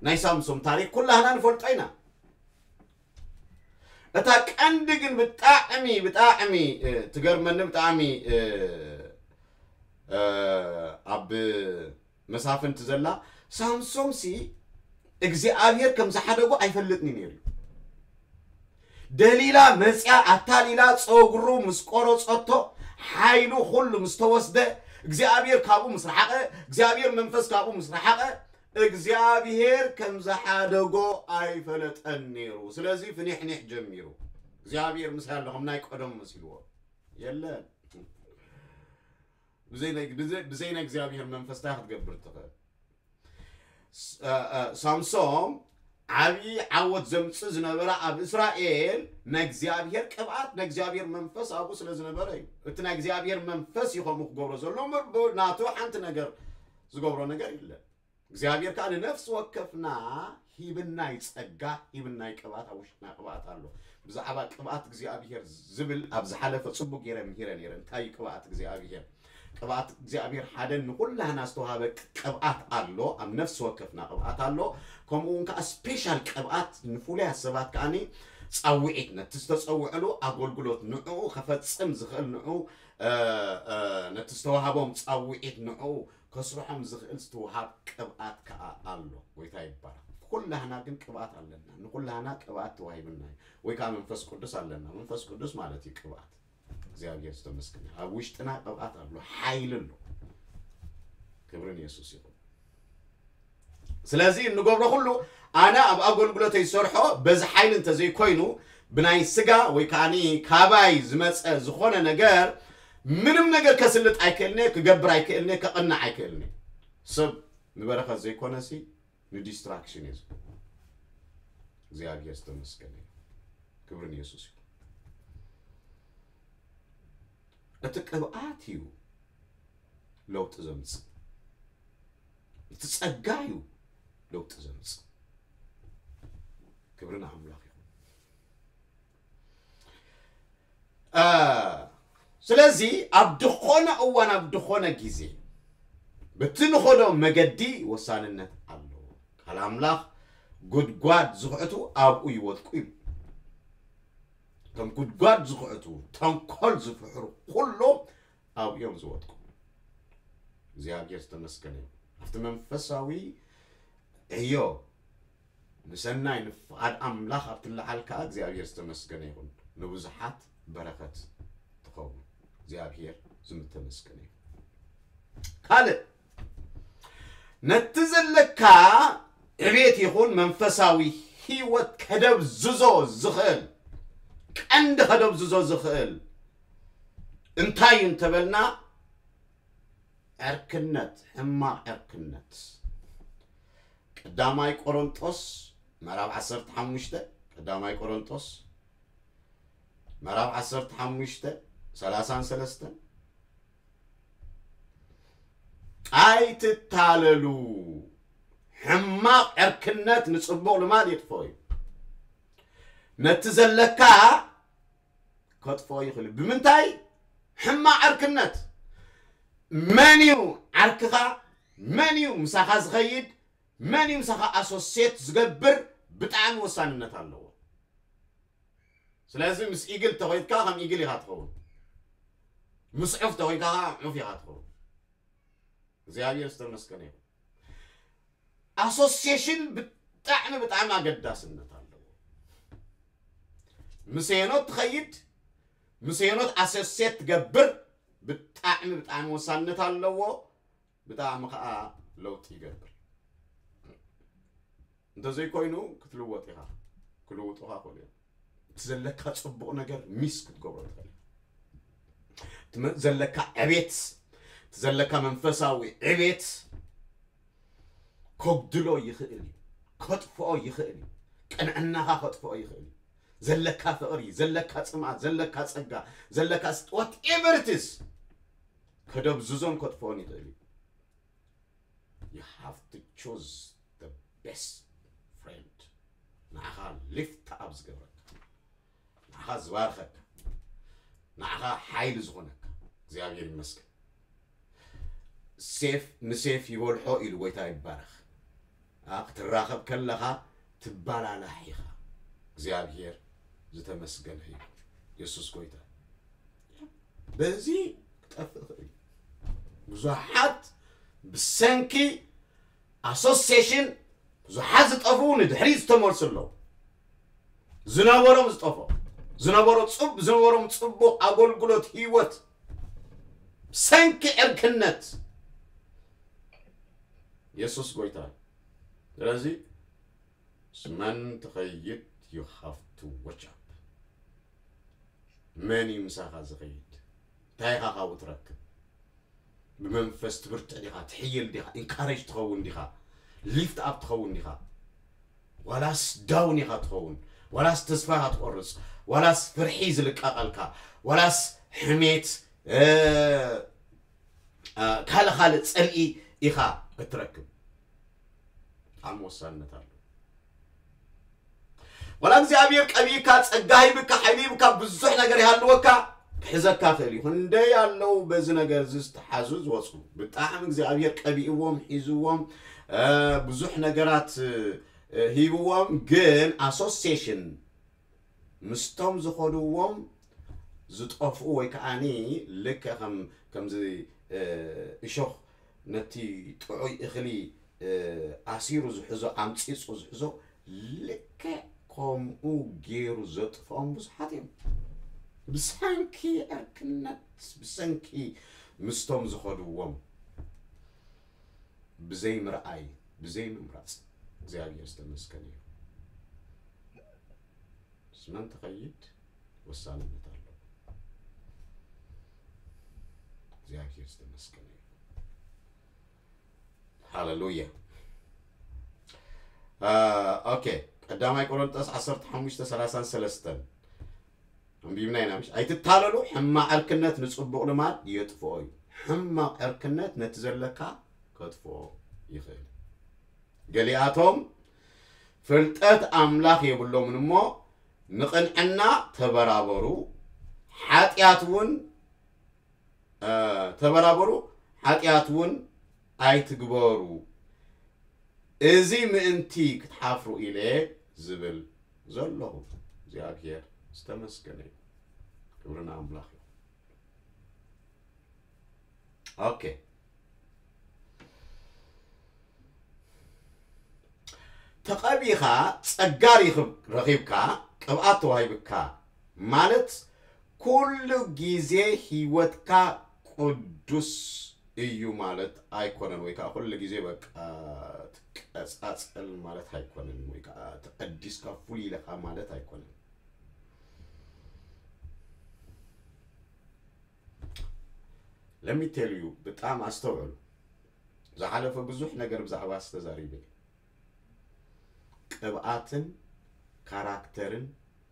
ናይ ሳምሶም ታሪክ ኩላህና ንፈልጦ ኢና። እታ ቀንዲ ግን ብጣዕሚ ብጣዕሚ ትገርመኒ፣ ብጣዕሚ ኣብ መሳፍንቲ ዘላ፣ ሳምሶምሲ እግዚኣብሔር ከም ዝሓደጎ ኣይፈልጥን እዩ ነይሩ። ደሊላ መፅያ ኣታሊላ ፀጉሩ ምስ ቆረፀቶ፣ ሓይሉ ኩሉ ምስ ተወስደ፣ እግዚኣብሔር ካብኡ ምስ ረሓቐ፣ እግዚኣብሔር መንፈስ ካብኡ ምስ ረሓቐ፣ እግዚኣብሔር ከም ዝሓደጎ ኣይፈለጠን ነይሩ። ስለዚ ፍኒሕኒሕ ጀሚሩ። እግዚኣብሔር ምሳይ ኣሎ፣ ከም ናይ ቀደሙ መሲልዎ። የለን። ብዘይ ናይ እግዚኣብሔር መንፈስ እንታይ ክትገብር ትኽእል? ሳምሶም ዓብዪ ዓወት ዘምፅእ ዝነበረ ኣብ እስራኤል ናይ እግዚኣብሔር ቅብኣት፣ ናይ እግዚኣብሔር መንፈስ ኣብኡ ስለ ዝነበረ እዩ። እቲ ናይ እግዚኣብሔር መንፈስ እዩ ከምኡ ክገብሮ ዘሎ እምበር፣ ብናቱ ሓንቲ ነገር ዝገብሮ ነገር የለን። እግዚኣብሔር ከዓ ንነፍሲ ወከፍና ሂብናይ ጸጋ፣ ሂብናይ ቅብኣት፣ ኣብ ውሽጥና ቅብኣት ኣሎ። ብዛዕባ ቅብኣት እግዚኣብሔር ዝብል ኣብ ዝሓለፈ ጽቡቅ ገይረ ምሂረ ነይረ። እንታይ እዩ ቅብኣት እግዚኣብሔር? ቅብኣት እግዚኣብሔር ሓደ ንኹላህና ዝተዋሃበ ቅብኣት ኣሎ፣ ኣብ ነፍሲ ወከፍና ቅብኣት ኣሎ። ከምኡ እውን ከዓ ስፔሻል ቅብኣት ንፍሉያት ሰባት ከዓኒ ጻውዒት፣ ነቲ ዝተጸውዐሉ ኣገልግሎት ንዕኡ ከፈጽም ዝኽእል፣ ንዕኡ ነቲ ዝተዋሃቦም ጻውዒት ንዕኡ ከስርሖም ዝኽእል ዝተውሃብ ቅብኣት ከዓ ኣሎ። ጎይታ ይባረክ። ኩላህና ግን ቅብኣት ኣለና። ንኩላህና ቅብኣት ተዋሂብና እዩ። ወይ ከዓ መንፈስ ቅዱስ ኣለና። መንፈስ ቅዱስ ማለት እዩ ቅብኣት። እግዚኣብሔር ዝተመስገነ። ኣብ ውሽጥና ቅብኣት ኣሎ፣ ሓይሊ ኣሎ። ክብርን የሱስ ይኹን። ስለዚ እንገብሮ ኩሉ ኣነ ኣብ ኣገልግሎተይ ዝሰርሖ በዚ ሓይሊ እንተዘይኮይኑ ብናይ ስጋ ወይ ከዓኒ ካባይ ዝመፀ ዝኾነ ነገር ምንም ነገር ከስልጥ ኣይክእልነ፣ ክገብር ኣይክእልነ፣ ከቕንዕ ኣይክእልነ። ሰብ ንበረኸት ዘይኮነሲ ንዲስትራክሽን እዩ ዝኮነ። እግዚኣብሔር ዝተመስገነ እዩ። ክብሪ ንየሱስ እዩ። እቲ ቅብኣት እዩ ለውጢ ዘምፅእ። እቲ ጸጋ እዩ ለውጢ ዘምፅእ። ክብሪ ንኣምላኽ ይኹን። እ፣ ስለዚ ኣብ ድኾነ እዋን፣ ኣብ ድኾነ ግዜ በቲ ንኸዶ መገዲ ወሳንነት ኣለዎ። ቃል ኣምላኽ፣ "ጉድጓድ ዝኹዕቱ ኣብኡ ይወድቁ" እዩ። እቶም ጉድጓድ ዝኹዕቱ፣ ተንኮል ዝፍሕሩ ኩሎም ኣብኡ እዮም ዝወድቁ። እግዚኣብሔር ዝተመስገነ ይኹን። ኣብቲ መንፈሳዊ ዕዮ ንሰናይ ንፍቓድ ኣምላኽ ኣብ ትለዓል ከኣ እግዚኣብሔር ዝተመስገነ ይኹን። ንብዙሓት በረኸት ትኸውን። እግዚኣብሔር ዝተመስገነ ይኹን። ካልእ፣ ነቲ ዘለካ ዕቤት ይኹን መንፈሳዊ ህይወት ከደብዝዞ ዝኽእል፣ ቀንዲ ከደብዝዞ ዝኽእል እንታይ እዩ እንተበልና፣ ዕርክነት፣ ሕማቕ ዕርክነት። ቀዳማይ ቆሮንጦስ ምዕራፍ ዓሰርተ ሓሙሽተ፣ ቀዳማይ ቆሮንጦስ ምዕራፍ ዓሰርተ ሓሙሽተ፣ ሰላሳን ሰለስተን፣ "ኣይትታለሉ፣ ሕማቕ ዕርክነት ንጽቡቕ ልማድ የጥፍኦ እዩ፣ ነቲ ዘለካ ከጥፍኦ ይኽእል እዩ።" ብምንታይ? ሕማቕ ዕርክነት። መን እዩ ዓርክኻ? መን እዩ ምሳኻ ዝኸይድ? መን እዩ ምሳኻ ኣሶሴት ዝገብር? ብጣዕሚ ወሳንነት ኣለዎ። ስለዚ ምስ ኢግል ተኾይድካ ከም ኢግል ኢኻ ትኸውን፣ ምስ ዑፍ ተኾይድካ ከዓ ዑፍ ኢኻ ትኸውን። እግዚኣብሔር ዝተመስገነ ይኹን። ኣሶሲሽን ብጣዕሚ ብጣዕሚ ኣገዳስነት ኣለዎ። ምስ ሄኖት ትኸይድ፣ ምስ ሄኖት ኣሶሴት ትገብር ብጣዕሚ ብጣዕሚ ወሳንነት ኣለዎ። ብጣዕሚ ከዓ ለውጢ ይገብር። እንተዘይኮይኑ ክትልወጥ ኢኻ፣ ክልውጡኻ ክእሉ እዮም። እቲ ዘለካ ጽቡቕ ነገር ሚስ ክትገብሮ ትኽእል። እቲ መ-፣ ዘለካ ዕቤት፣ እቲ ዘለካ መንፈሳዊ ዕቤት ከጉድሎ ይኽእል እዩ፣ ከጥፍኦ ይኽእል እዩ፣ ቅንዕናኻ ከጥፍኦ ይኽእል እዩ። ዘለካ ፍቕሪ፣ ዘለካ ጽምኣት፣ ዘለካ ጸጋ፣ ዘለካ ስ-፣ whatever it is፣ ከደብዝዞን ከጥፍኦን ይኽእል እዩ። You have to choose the best friend። ንዓኻ ሊፍት ኣፕ ዝገብረካ፣ ንዓኻ ዝባርኸካ፣ ንዓኻ ሓይሊ ዝኾነካ። እግዚኣብሔር ይመስገን። ሴፍ ንሴፍ ይበልሖ ኢሉ ጎይታ ይባረኽ። ኣ፣ ክትራኸብ ከለኻ ትባላላሕ ኢኻ። እግዚኣብሔር ዝተመስገነ ይኹን። የሱስ ጎይታ። በዚ ክጠፍእ ይኽእል እዩ። ብዙሓት ብሰንኪ ኣሶሲሽን ብዙሓት ዝጠፍኡ ንድሕሪት ዝተመልሱ ኣለዉ። ዝነበሮም ዝጠፍኦ፣ ዝነበሮ ጽብ-፣ ዝነበሮም ጽቡቕ ኣገልግሎት ህይወት ብሰንኪ ዕርክነት። የሱስ ጎይታ እዩ። ስለዚ ምስ መን ትኸይድ? You have to watch up። መን እዩ ምሳኻ ዝኸይድ? እንታይ ኢኻ ካብኡ ትረክብ? ብመንፈስ ትብርትዕ ዲኻ? ትሕይል ዲኻ? ኢንካሬጅ ትኸውን ዲኻ? ሊፍት ኣፕ ትኸውን ዲኻ? ዋላስ ዳውን ኢኻ ትኸውን? ዋላስ ተስፋ ኢኻ ትቆርጽ? ዋላስ ፍርሒ ዝልቀቐልካ? ዋላስ ሕሜት፣ እ፣ እ፣ ካልእ ካልእ ጽልኢ ኢኻ እትረክብ? ብጣዕሚ ወሳንነት ኣለዎ። ዋላ እግዚኣብሔር ቀቢእካ፣ ጸጋ ሂብካ፣ ሓይሊ ሂብካ፣ ብዙሕ ነገር ይሃልወካ፣ ክሕዘካ ክእል እዩ። ክንደይ ኣለዉ በዚ ነገር እዚ ዝተሓዙ ዝወፁ። ብጣዕሚ እግዚኣብሔር ቀቢእዎም፣ ሒዝዎም፣ እ፣ ብዙሕ ነገራት፣ እ፣ ሂብዎም፣ ግን ኣሶሲሽን ምስቶም ዝኸድዎም ዝጠፍኡ ወይ ከዓኒ ልክዕ ከም፣ ከምዚ፣ እ፣ እሾኽ ነቲ ጥዑይ እኽሊ፣ እ፣ ኣሲሩ ዝሕዞ፣ ኣምጺጹ ዝሕዞ፣ ልክዕ ከምኡ ገይሩ ዘጥፍኦም ብዙሓት እዮም። ብሰንኪ ዕርክነት፣ ብሰንኪ ምስቶም ዝኸድዎም ብዘይ ምርኣይ፣ ብዘይ ምምራጽ። እግዚኣብሔር ዝተመስገነ ይኹን። ምስ መን ትኸይድ ወሳንነት ኣለዎ። እግዚኣብሔር ዝተመስገነ ይኹን። ሃሌሉያ። አ፣ ኦኬ፣ ቀዳማይ ቆሮንጦስ ዓሰርተ ሓሙሽተ ሰላሳን ሰለስተን ኣንቢብና ኢና፣ ምሽ? "ኣይትታለሉ፣ ሕማቕ ዕርክነት ንጽቡቕ ልማድ የጥፍኦ እዩ። ሕማቕ ዕርክነት ነቲ ዘለካ ከጥፍኦ ይኽእል እዩ። ገሊኣቶም ፍልጠት ኣምላኽ የብሎምን እሞ፣ ንቕንዕና ተበራበሩ፣ ሓጢኣት እውን፣ እ፣ ተበራበሩ፣ ሓጢኣት እውን ኣይትግበሩ። እዚ ምእንቲ ክትሓፍሩ ኢለ ዝብል ዘለኹ። እግዚኣብሔር ዝተመስገነ እዩ። ክብሪ ንኣምላኽ እዩ። ኦኬ። ተቐቢኻ፣ ጸጋ ሪኽብ-፣ ረኺብካ፣ ቅብኣት ተዋሂብካ ማለት ኩሉ ግዜ ህይወትካ ቅዱስ እዩ ማለት ኣይኮነን፣ ወይ ከዓ ኩሉ ግዜ በቃ ትቀጻጸል ማለት ኣይኮነን፣ ወይ ከዓ ተቐዲስካ ፍሉይ ኢለኻ ማለት ኣይኮነን። Let me tell you፣ ብጣም ኣስተውዕሉ። ዝሓለፈ ብዙሕ ነገር ብዛዕባ ዝተዛሪበ እዩ። ቅብኣትን ካራክተርን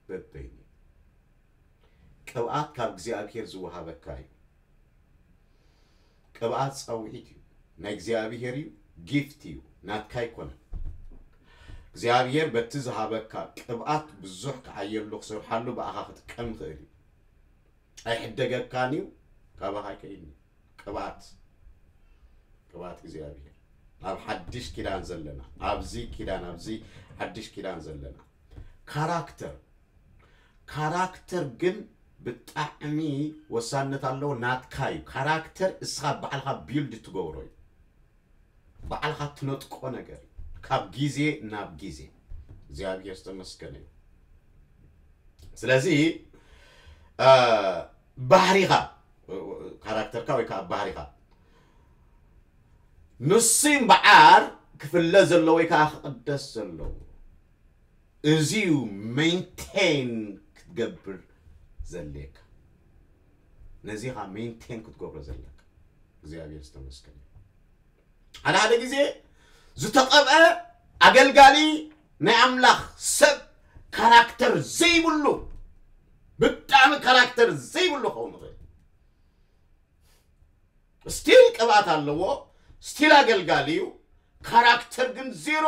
በበይኑ። ቅብኣት ካብ እግዚኣብሔር ዝወሃበካ እዩ። ቅብኣት ጸውዒት እዩ፣ ናይ እግዚኣብሔር እዩ፣ ጊፍት እዩ፣ ናትካ ኣይኮነን። እግዚኣብሔር በቲ ዝሃበካ ቅብኣት ብዙሕ ክዓየሉ ክሰርሓሉ ብኣኻ ክጥቀም ይኽእል እዩ። ኣይሕደገካን እዩ፣ ካባኻ ኣይከይድን እዩ። ቅብኣት፣ ቅብኣት እግዚኣብሔር። ኣብ ሓድሽ ኪዳን ዘለና፣ ኣብዚ ኪዳን፣ ኣብዚ ሓድሽ ኪዳን ዘለና። ካራክተር፣ ካራክተር ግን ብጣዕሚ ወሳነት ኣለዎ፣ ናትካ እዩ። ካራክተር እስኻ ባዕልኻ ቢልድ ትገብሮ እዩ። ባዕልኻ ትነጥቆ ነገር እዩ፣ ካብ ግዜ ናብ ግዜ። እግዚኣብሔር ዝተመስገነ እዩ። ስለዚ፣ እ፣ ባህሪኻ፣ ካራክተርካ ወይ ከዓ ባህሪኻ፣ ንሱ እምበኣር ክፍለ ዘለዎ ወይ ከዓ ክቕደስ ዘለዎ። እዚ እዩ ሜንቴን ክትገብር ዘድልየካ። ነዚ ኢኻ ሜንቴን ክትገብሮ ዘለካ። እግዚኣብሔር ዝተመስገነ እዩ። ሓደ ሓደ ግዜ ዝተቐብአ ኣገልጋሊ ናይ ኣምላኽ ሰብ ካራክተር ዘይብሉ፣ ብጣዕሚ ካራክተር ዘይብሉ ክኸውን ይኽእል። ስቲል ቅብኣት ኣለዎ፣ ስቲል ኣገልጋሊ እዩ፣ ካራክተር ግን ዜሮ።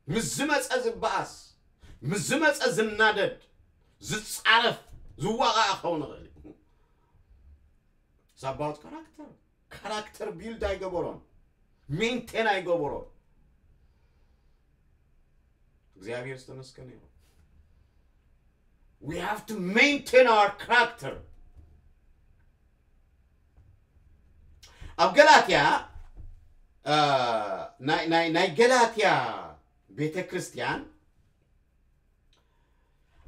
ምስ ዝመጸ ዝበኣስ፣ ምስ ዝመጸ ዝናደድ፣ ዝጻረፍ፣ ዝዋቓዕ ክኸውን ይኽእል እዩ። It's about character። ካራክተር ቢልድ ኣይገበሮን፣ ሜንቴን ኣይገበሮን። እግዚኣብሔር ዝተመስገነ ይኹን። We have to maintain our character። ኣብ ገላትያ፣ እ፣ ናይ፣ ናይ፣ ናይ ገላትያ ቤተ ክርስቲያን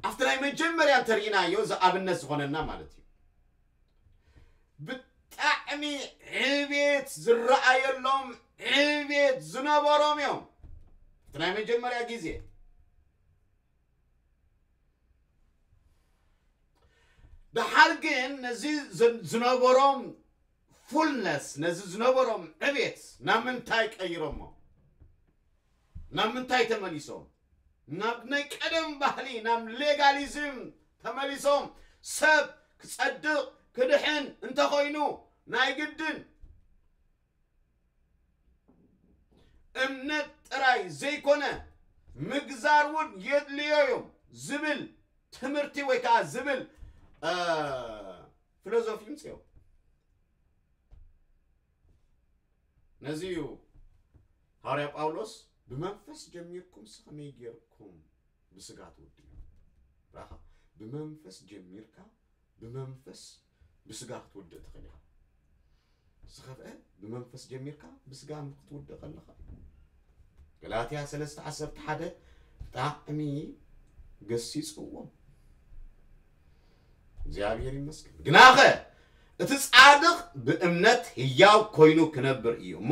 ኣብቲ ናይ መጀመርያ እንተርኢናዮ ዝኣብነት ዝኾነና ማለት እዩ። ብጣዕሚ ዕቤት ዝረኣየሎም፣ ዕቤት ዝነበሮም እዮም። እቲ ናይ መጀመርያ ግዜ። ደሓር ግን ነዚ ዝ-፣ ዝነበሮም ፉልነስ፣ ነዚ ዝነበሮም ዕቤት ናብ ምንታይ ቀይሮሞ? ናብ ምንታይ ተመሊሶም? ናብ ናይ ቀደም ባህሊ፣ ናብ ሌጋሊዝም ተመሊሶም። ሰብ ክጸድቕ፣ ክድሕን እንተኾይኑ፣ ናይ ግድን እምነት ጥራይ ዘይኮነ፣ ምግዛር እውን የድልዮ እዮም ዝብል ትምህርቲ ወይ ከዓ ዝብል፣ እ፣ ፊሎዞፊ ይምጽኦም። ነዚ እዩ ሃዋርያ ጳውሎስ፣ "ብመንፈስ ጀሚርኩም እስከ ከመይ ጌርኩም ብስጋ ትውድኡ?" ራኻ፣ ብመንፈስ ጀሚርካ፣ ብመንፈስ ብስጋ ክትውድእ ትኽእል ኢኻ። ንስኻ ኸ ብመንፈስ ጀሚርካ ብስጋ ክትውድእ ከለኻ፣ ገላትያ ሰለስተ ዓሰርተ ሓደ ብጣዕሚ ገሲጽዎም። እግዚኣብሔር ይመስገን። ግናኸ እቲ ጻድቕ ብእምነት ህያው ኮይኑ ክነብር እዩ እሞ፣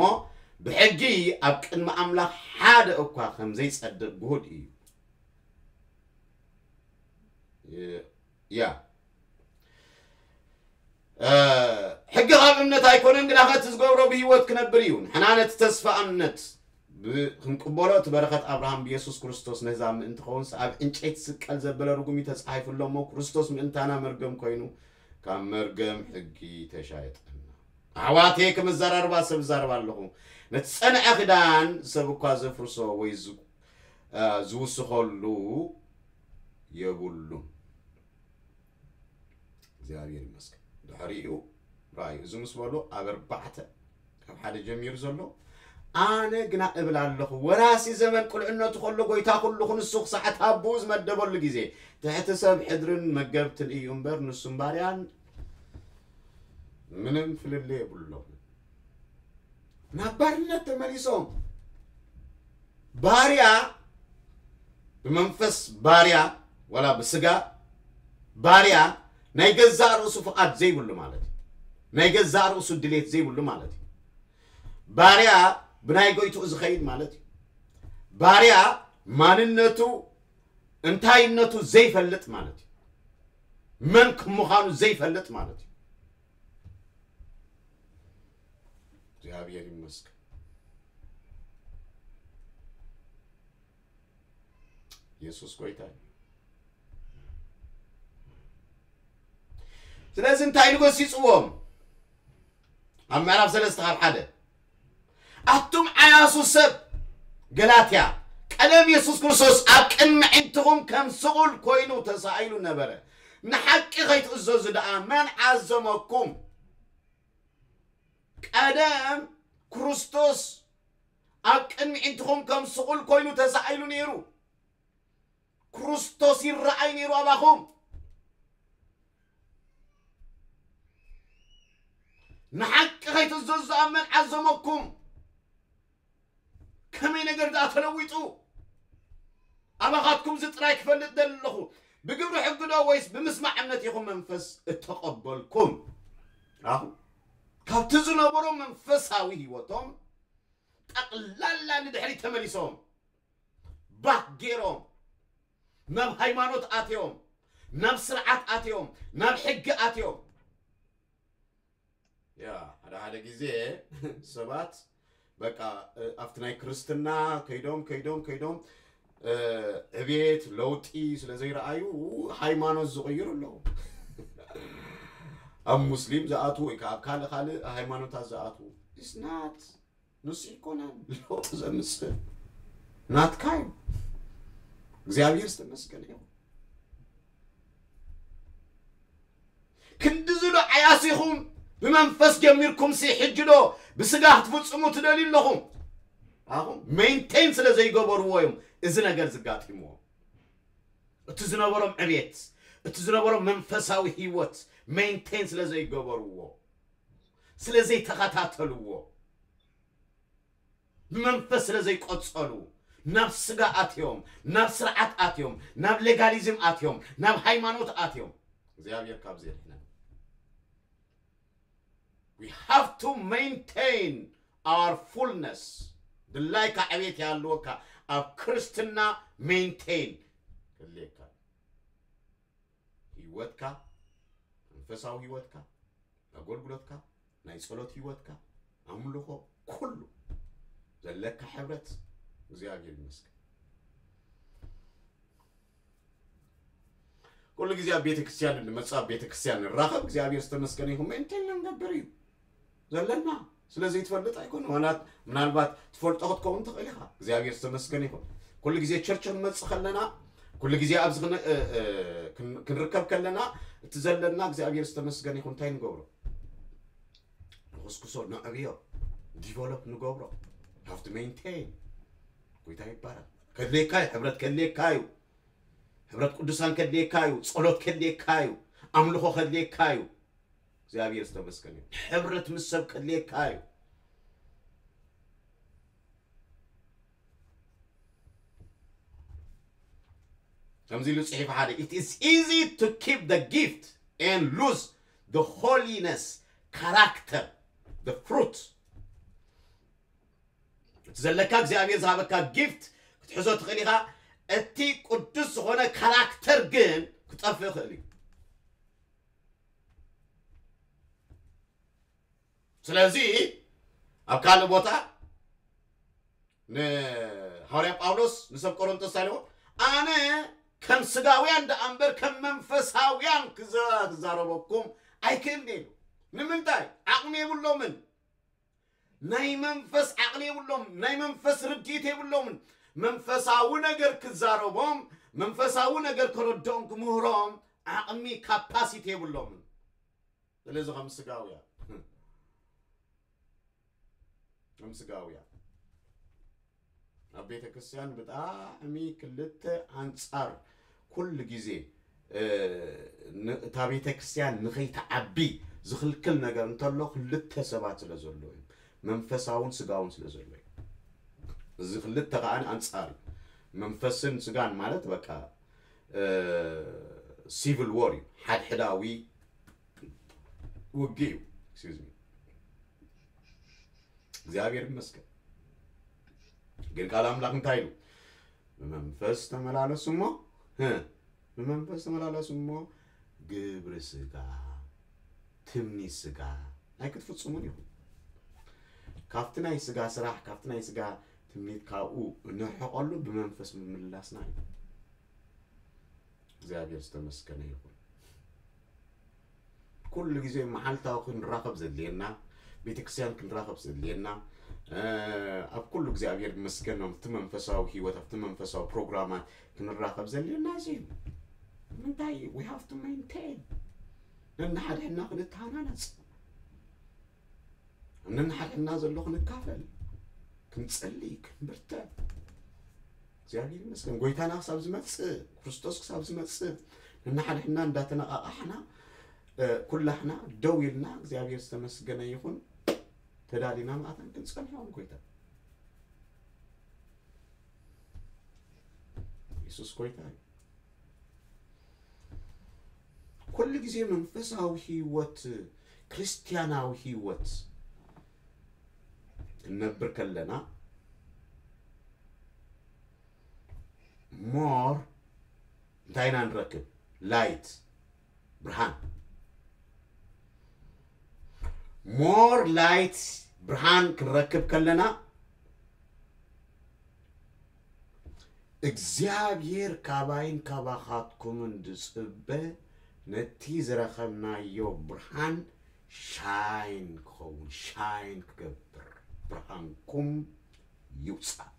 ብሕጊ ኣብ ቅድሚ ኣምላኽ ሓደ እኳ ከም ዘይጸድቕ ግሁድ እዩ። ያ። እ፣ ሕጊ ካብ እምነት ኣይኮነን፣ ግናኸ እቲ ዝገብሮ ብህይወት ክነብር እዩ። ንሕና ነቲ ተስፋ እምነት ብ-፣ ክንቅበሎ፣ እቲ በረኸት ኣብርሃም ብየሱስ ክርስቶስ ነህዛብ ምእንቲ ኸውንስ ኣብ ዕንጨይቲ ስቀል ዘበለ ርጉም እዩ ተጻሒፉ ኣሎ እሞ፣ ክርስቶስ ምእንታና መርገም ኮይኑ፣ ካብ መርገም ሕጊ ተሻየጠና። ኣሕዋተየ፣ ከም እዘራርባ ሰብ እዛረብ ኣለኹ። ነቲ ጸንዐ ክዳን ሰብ እኳ ዘፍርሶ ወይ ዝ-፣ እ፣ ዝውስኸሉ የብሉን። እግዚኣብሔር ይመስገን። ድሕሪኡ ራእዩ እዚ ምስ በሉ ኣብ ኣርባዕተ ካብ ሓደ ጀሚሩ ዘሎ፣ ኣነ ግና እብል ኣለኹ፣ ወራሲ ዘመን ቁልዕነቱ ከሎ፣ ጎይታ ኩሉ ክንሱ ክሳዕ ኣቦኡ ዝመደበሉ ግዜ፣ ትሕቲ ሰብ ሕድርን መገብትን እዩ እምበር፣ ንሱን ባርያን ምንም ፍልልይ የብሎም። ናብ ባርነት ተመሊሶም፣ ባርያ ብመንፈስ ባርያ፣ ዋላ ብስጋ ባርያ፣ ናይ ገዛእ ርእሱ ፍቓድ ዘይብሉ ማለት እዩ። ናይ ገዛእ ርእሱ ድሌት ዘይብሉ ማለት እዩ። ባርያ ብናይ ጎይትኡ ዝኸይድ ማለት እዩ። ባርያ ማንነቱ፣ እንታይነቱ ዘይፈልጥ ማለት እዩ። መን ከም ምዃኑ ዘይፈልጥ ማለት እዩ። እግዚኣብሔር ይመስገን። የሱስ ጎይታ እዩ። ስለዚ እንታይ ኢሉ ገሲጽዎም? ኣብ ምዕራፍ ሰለስተ ካብ ሓደ፣ ኣቱም ዓያሱ ሰብ ገላትያ፣ ቀደም የሱስ ክርስቶስ ኣብ ቅድሚ ኣዒንትኹም ከም ስቑል ኮይኑ ተሳኢሉ ነበረ። ንሓቂ ከይትእዘዙ ደኣ መን ዓዘመኩም? ቀደም ክርስቶስ ኣብ ቅድሚ ኣዒንትኹም ከም ስቑል ኮይኑ ተሳኢሉ ነይሩ። ክርስቶስ ይረኣይ ነይሩ ኣባኹም። ንሓቂ ከይትእዘዙ ኣብ መን ዓዘመኩም? ከመይ ነገር ደኣ ተለዊጡ? ኣባኻትኩም እዚ ጥራይ ክፈልጥ ደሊ ኣለኹ። ብግብሪ ሕጊ ዶ ወይስ ብምስማዕ እምነት ኢኹም መንፈስ እተቐበልኩም? ኣኹ ካብቲ ዝነበሮ መንፈሳዊ ህይወቶም ጠቕላላ ንድሕሪት ተመሊሶም፣ ባክ ገይሮም፣ ናብ ሃይማኖት ኣትዮም፣ ናብ ስርዓት ኣትዮም፣ ናብ ሕጊ ኣትዮም። ያ፣ ሓደ ሓደ ግዜ ሰባት በቃ፣ እ፣ ኣብቲ ናይ ክርስትና ከይዶም፣ ከይዶም፣ ከይዶም፣ እ፣ ዕቤት፣ ለውጢ ስለ ዘይረኣዩ ሃይማኖት ዝቕይሩ ኣለዉ። ኣብ ሙስሊም ዝኣትዉ ወይ ከዓ ኣብ ካልእ ካልእ ሃይማኖታት ዝኣትዉ። It's not፣ ንሱ ኣይኮነን ለውጢ ዘምጽእ፣ ናትካ እዩ። እግዚኣብሔር ዝተመስገነ ይኹን። ክንዲ ዝሎ ዓያሲኹም ብመንፈስ ጀሚርኩም ሲ ሕጂ ዶ ብስጋ ክትፍጽሙ ትደልዩ ኣለኹም? ኣኹም ሜንቴን ስለ ዘይገበርዎ እዮም እዚ ነገር ዝጋጢምዎም። እቲ ዝነበሮም ዕቤት፣ እቲ ዝነበሮም መንፈሳዊ ህይወት ሜንቴን ስለ ዘይገበርዎ፣ ስለ ዘይተኸታተልዎ፣ ብመንፈስ ስለ ዘይቆጸሉ፣ ናብ ስጋ ኣትዮም፣ ናብ ስርዓት ኣትዮም፣ ናብ ሌጋሊዝም ኣትዮም፣ ናብ ሃይማኖት ኣትዮም። እግዚኣብሔር ካብዚ የድሕነና። We have to maintain our fullness። ድላይካ ዕቤት ይሃልወካ፣ ኣብ ክርስትና ሜንቴን ክልየካ። ህይወትካ፣ መንፈሳዊ ህይወትካ፣ ኣገልግሎትካ፣ ናይ ጸሎት ህይወትካ፣ ኣምልኾ፣ ኩሉ ዘለካ ሕብረት እግዚኣብሔር ይመስገን። ኩሉ ግዜ ኣብ ቤተ ክርስቲያን እንመጽእ፣ ኣብ ቤተ ክርስቲያን ንራኸብ፣ እግዚኣብሔር ዝተመስገነ ይኹን። ሜንቴን ንገብር እዩ ዘለና። ስለ ዘይትፈልጥ ኣይኮነ። ምናልባት፣ ምናልባት ትፈልጦ ክትከውን ትኽእል ኢኻ። እግዚኣብሔር ዝተመስገነ ይኹን። ኩሉ ግዜ ቸርች ክንመጽእ ከለና፣ ኩሉ ግዜ ኣብዚ ክን-፣ እ፣ እ፣ ክን-፣ ክንርከብ ከለና፣ እቲ ዘለና እግዚኣብሔር ዝተመስገነ ይኹን። እንታይ ንገብሮ? ንኹስኩሶ፣ ነዕብዮ፣ ዲቨሎፕ ንገብሮ። ሃፍቲ ሜንቴን። ጎይታ ይባረክ። ከድልየካ እዩ፣ ሕብረት ከድልየካ እዩ። ሕብረት ቅዱሳን ከድልየካ እዩ፣ ጸሎት ከድልየካ እዩ፣ ኣምልኾ ከድልየካ እዩ። እግዚኣብሔር ዝተመስገነ እዩ። ሕብረት ምስ ሰብ ከድልየካ እዩ። ከምዚ ኢሉ ጽሒፉ ሓደ፣ "It is easy to keep the gift and lose the holiness, character, the fruit." እቲ ዘለካ እግዚኣብሔር ዝሃበካ ጊፍት ክትሕዞ ትኽእል ኢኻ፣ እቲ ቅዱስ ዝኾነ ካራክተር ግን ክጠፍእ ይኽእል እዩ። ስለዚ ኣብ ካልእ ቦታ ንሃዋርያ ጳውሎስ ንሰብ ቆሮንቶስ እንታይ ኢልዎ? "ኣነ ከም ስጋውያን ደኣ እምበር ከም መንፈሳውያን ክዘ-፣ ክዛረበኩም ኣይክእልን" ኢሉ። ንምንታይ? ዓቕሚ የብሎምን። ናይ መንፈስ ዓቕሊ የብሎም፣ ናይ መንፈስ ርድኢት የብሎምን። መንፈሳዊ ነገር ክዛረቦም፣ መንፈሳዊ ነገር ክረድኦም፣ ክምህሮም ዓቕሚ፣ ካፓሲቲ የብሎምን። ስለዚ ከም ስጋውያ፣ ከም ስጋውያ ኣብ ቤተ ክርስቲያን ብጣዕሚ ክልተ ኣንጻር ኩሉ ግዜ፣ እ፣ ን-፣ እታ ቤተ ክርስቲያን ንኸይትዓቢ ዝኽልክል ነገር እንተሎ ክልተ ሰባት ስለ ዘሎ እዩ። መንፈሳውን ስጋውን ስለ ዘሎ እዩ። እዚ ክልተ ከኣ ኣንጻር እዩ። መንፈስን ስጋን ማለት በቃ፣ እ፣ ሲቪል ዎር እዩ። ሓድሕዳዊ ውግእ እዩ። Excuse me። እግዚኣብሔር ይመስገን። ግን ቃል ኣምላኽ እንታይ ኢሉ? "ብመንፈስ ተመላለሱ እሞ፣ እ፣ ብመንፈስ ተመላለሱ እሞ ግብሪ ስጋ፣ ትምኒት ስጋ ኣይክትፍጽሙን ኢኹም።" ካብቲ ናይ ስጋ ስራሕ፣ ካብቲ ናይ ስጋ ትምኒት ካብኡ እንርሕቐሉ ብመንፈስ ምምላስና እዩ። እግዚኣብሔር ዝተመስገነ ይኹን። ኩሉ ግዜ መዓልታዊ ክንራኸብ ዘድልየና፣ ቤተክርስትያን ክንራኸብ ዘድልየና፣ እ፣ ኣብ ኩሉ እግዚኣብሔር ይመስገን፣ ኣብቲ መንፈሳዊ ህይወት፣ ኣብቲ መንፈሳዊ ፕሮግራማት ክንራኸብ ዘድልየና እዚ እዩ። ምንታይ? We have to maintain። ነንሓድሕድና ክንተሃናነጽ። ነንሓድሕድና ዘሎ ክንካፈል፣ ክንጸሊ፣ ክንብርትዕ። እግዚኣብሔር ይመስገን። ጎይታና ክሳብ ዝመጽእ፣ ክርስቶስ ክሳብ ዝመጽእ፣ ነንሓድሕድና እንዳተነቓቓሕና፣ እ፣ ኩላሕና ደው ኢልና፣ እግዚኣብሔር ዝተመስገነ ይኹን፣ ተዳሊና መዓት ክንጸንሖ ንጎይታ። የሱስ ጎይታ እዩ። ኩሉ ግዜ መንፈሳዊ ህይወት፣ ክርስትያናዊ ህይወት ክንነብር ከለና፣ ሞር እንታይ ኢና ንረክብ? ላይት፣ ብርሃን። ሞር ላይት፣ ብርሃን ክንረክብ ከለና፣ እግዚኣብሔር ካባይን ካባኻትኩምን ዝጽበ፣ ነቲ ዝረኸብናዮ ብርሃን ሻይን ክኸውን፣ ሻይን ክገብር፣ ብርሃንኩም ይውጻእ።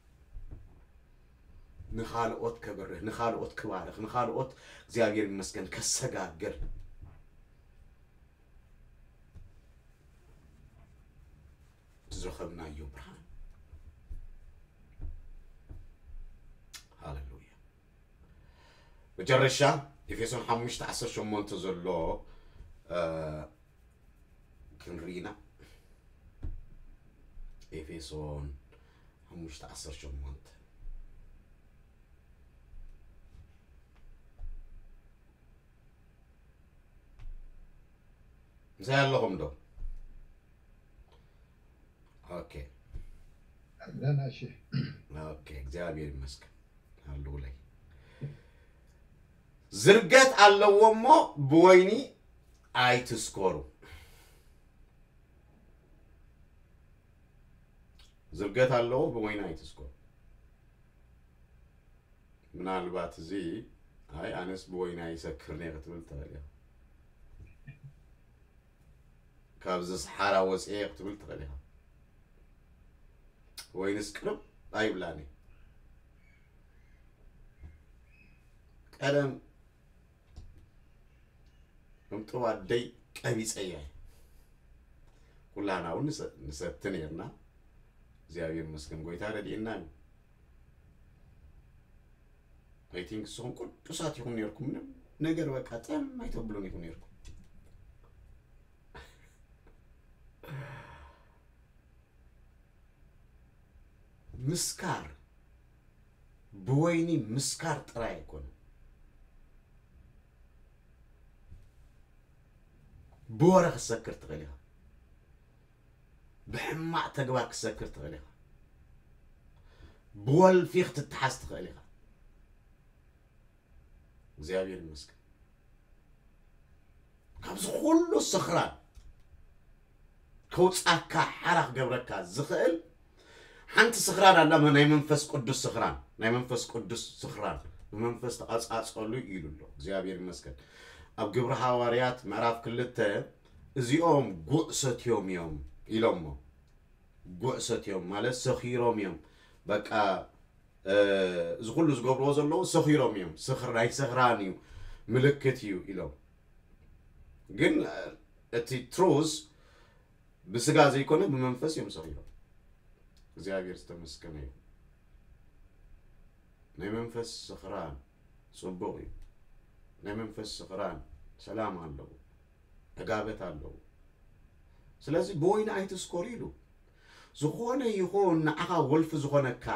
ንኻልኦት ከብርህ፣ ንኻልኦት ክባርኽ፣ ንኻልኦት እግዚኣብሔር ይመስገን ከሰጋግር ዝረኸብናዮ ብርሃን። ሃሌሉያ። መጨረሻ ኤፌሶን ሓሙሽተ ዓሰርተ ሸሞንተ ዘሎ፣ እ፣ ክንርኢና። ኤፌሶን ሓሙሽተ ዓሰርተ ሸሞንተ። ምሳይ ኣለኹም ዶ? ኦኬ። ኣለና፣ እሺ። ኦኬ፣ እግዚኣብሔር ይመስገን። ሃሌሉያ። ዝርገት ኣለዎ እሞ ብወይኒ ኣይትስከሩ። ዝርገት ኣለዎ ብወይኒ ኣይትስከሩ። ምናልባት እዚ፣ "ኣይ፣ ኣነስ ብወይኒ ኣይሰክርን እየ" ክትብል ትኽእል ኢኻ። "ካብዚ ሰሓራ ወፂኤ" ክትብል ትኽእል ኢኻ። ወይንስ ቅርብ ኣይብላን እየ። ቀደም ከም ጥዋደይ ቀቢፀያ እየ። ኩላና እውን ንሰ-፣ ንሰቲ ነርና። እግዚኣብሔር ይመስገን፣ ጎይታ ረድኤና እዩ። I think ንስኹም ቅዱሳት ኢኹም ነርኩም፣ ምንም ነገር በቃ ጠም ኣይተብሉን ኢኹም ነርኩም። ምስካር፣ ብወይኒ ምስካር ጥራይ ኣይኮነን። ብወረ ክትሰክር ትኽእል ኢኻ። ብሕማቕ ተግባር ክትሰክር ትኽእል ኢኻ። ብወልፊ ክትተሓዝ ትኽእል ኢኻ። እግዚኣብሔር ይመስገን። ካብዚ ኩሉ ስኽራን ከውጻካ፣ ሓራ ክገብረካ ዝኽእል ሓንቲ ስኽራን ኣላ፣ ናይ መንፈስ ቅዱስ ስኽራን፣ ናይ መንፈስ ቅዱስ ስኽራን፣ ብመንፈስ ተቐጻጸሉ ኢሉ ኣሎ። እግዚኣብሔር ይመስገን። ኣብ ግብሪ ሃዋርያት ምዕራፍ ክልተ እዚኦም ጉዕ ሰትዮም እዮም ኢሎሞ። ጉዕ ሰትዮም ማለት ሰኺሮም እዮም። በቃ እዚ ኩሉ ዝገብርዎ ዘለዉ ሰኺሮም እዮም። ስኽር ናይ ስኽራን እዩ፣ ምልክት እዩ ኢሎም። ግን እቲ ትሩዝ ብስጋ ዘይኮነ ብመንፈስ እዮም ሰኺሮም። እግዚኣብሔር ዝተመስገነ እዩ። ናይ መንፈስ ስኽራን ጽቡቕ እዩ። ናይ መንፈስ ስኽራን ሰላም ኣለዎ፣ ዕጋበት ኣለዎ። ስለዚ ብወይኒ ኣይትስከሩ ኢሉ። ዝኾነ ይኹን ንዓኻ ወልፊ ዝኾነካ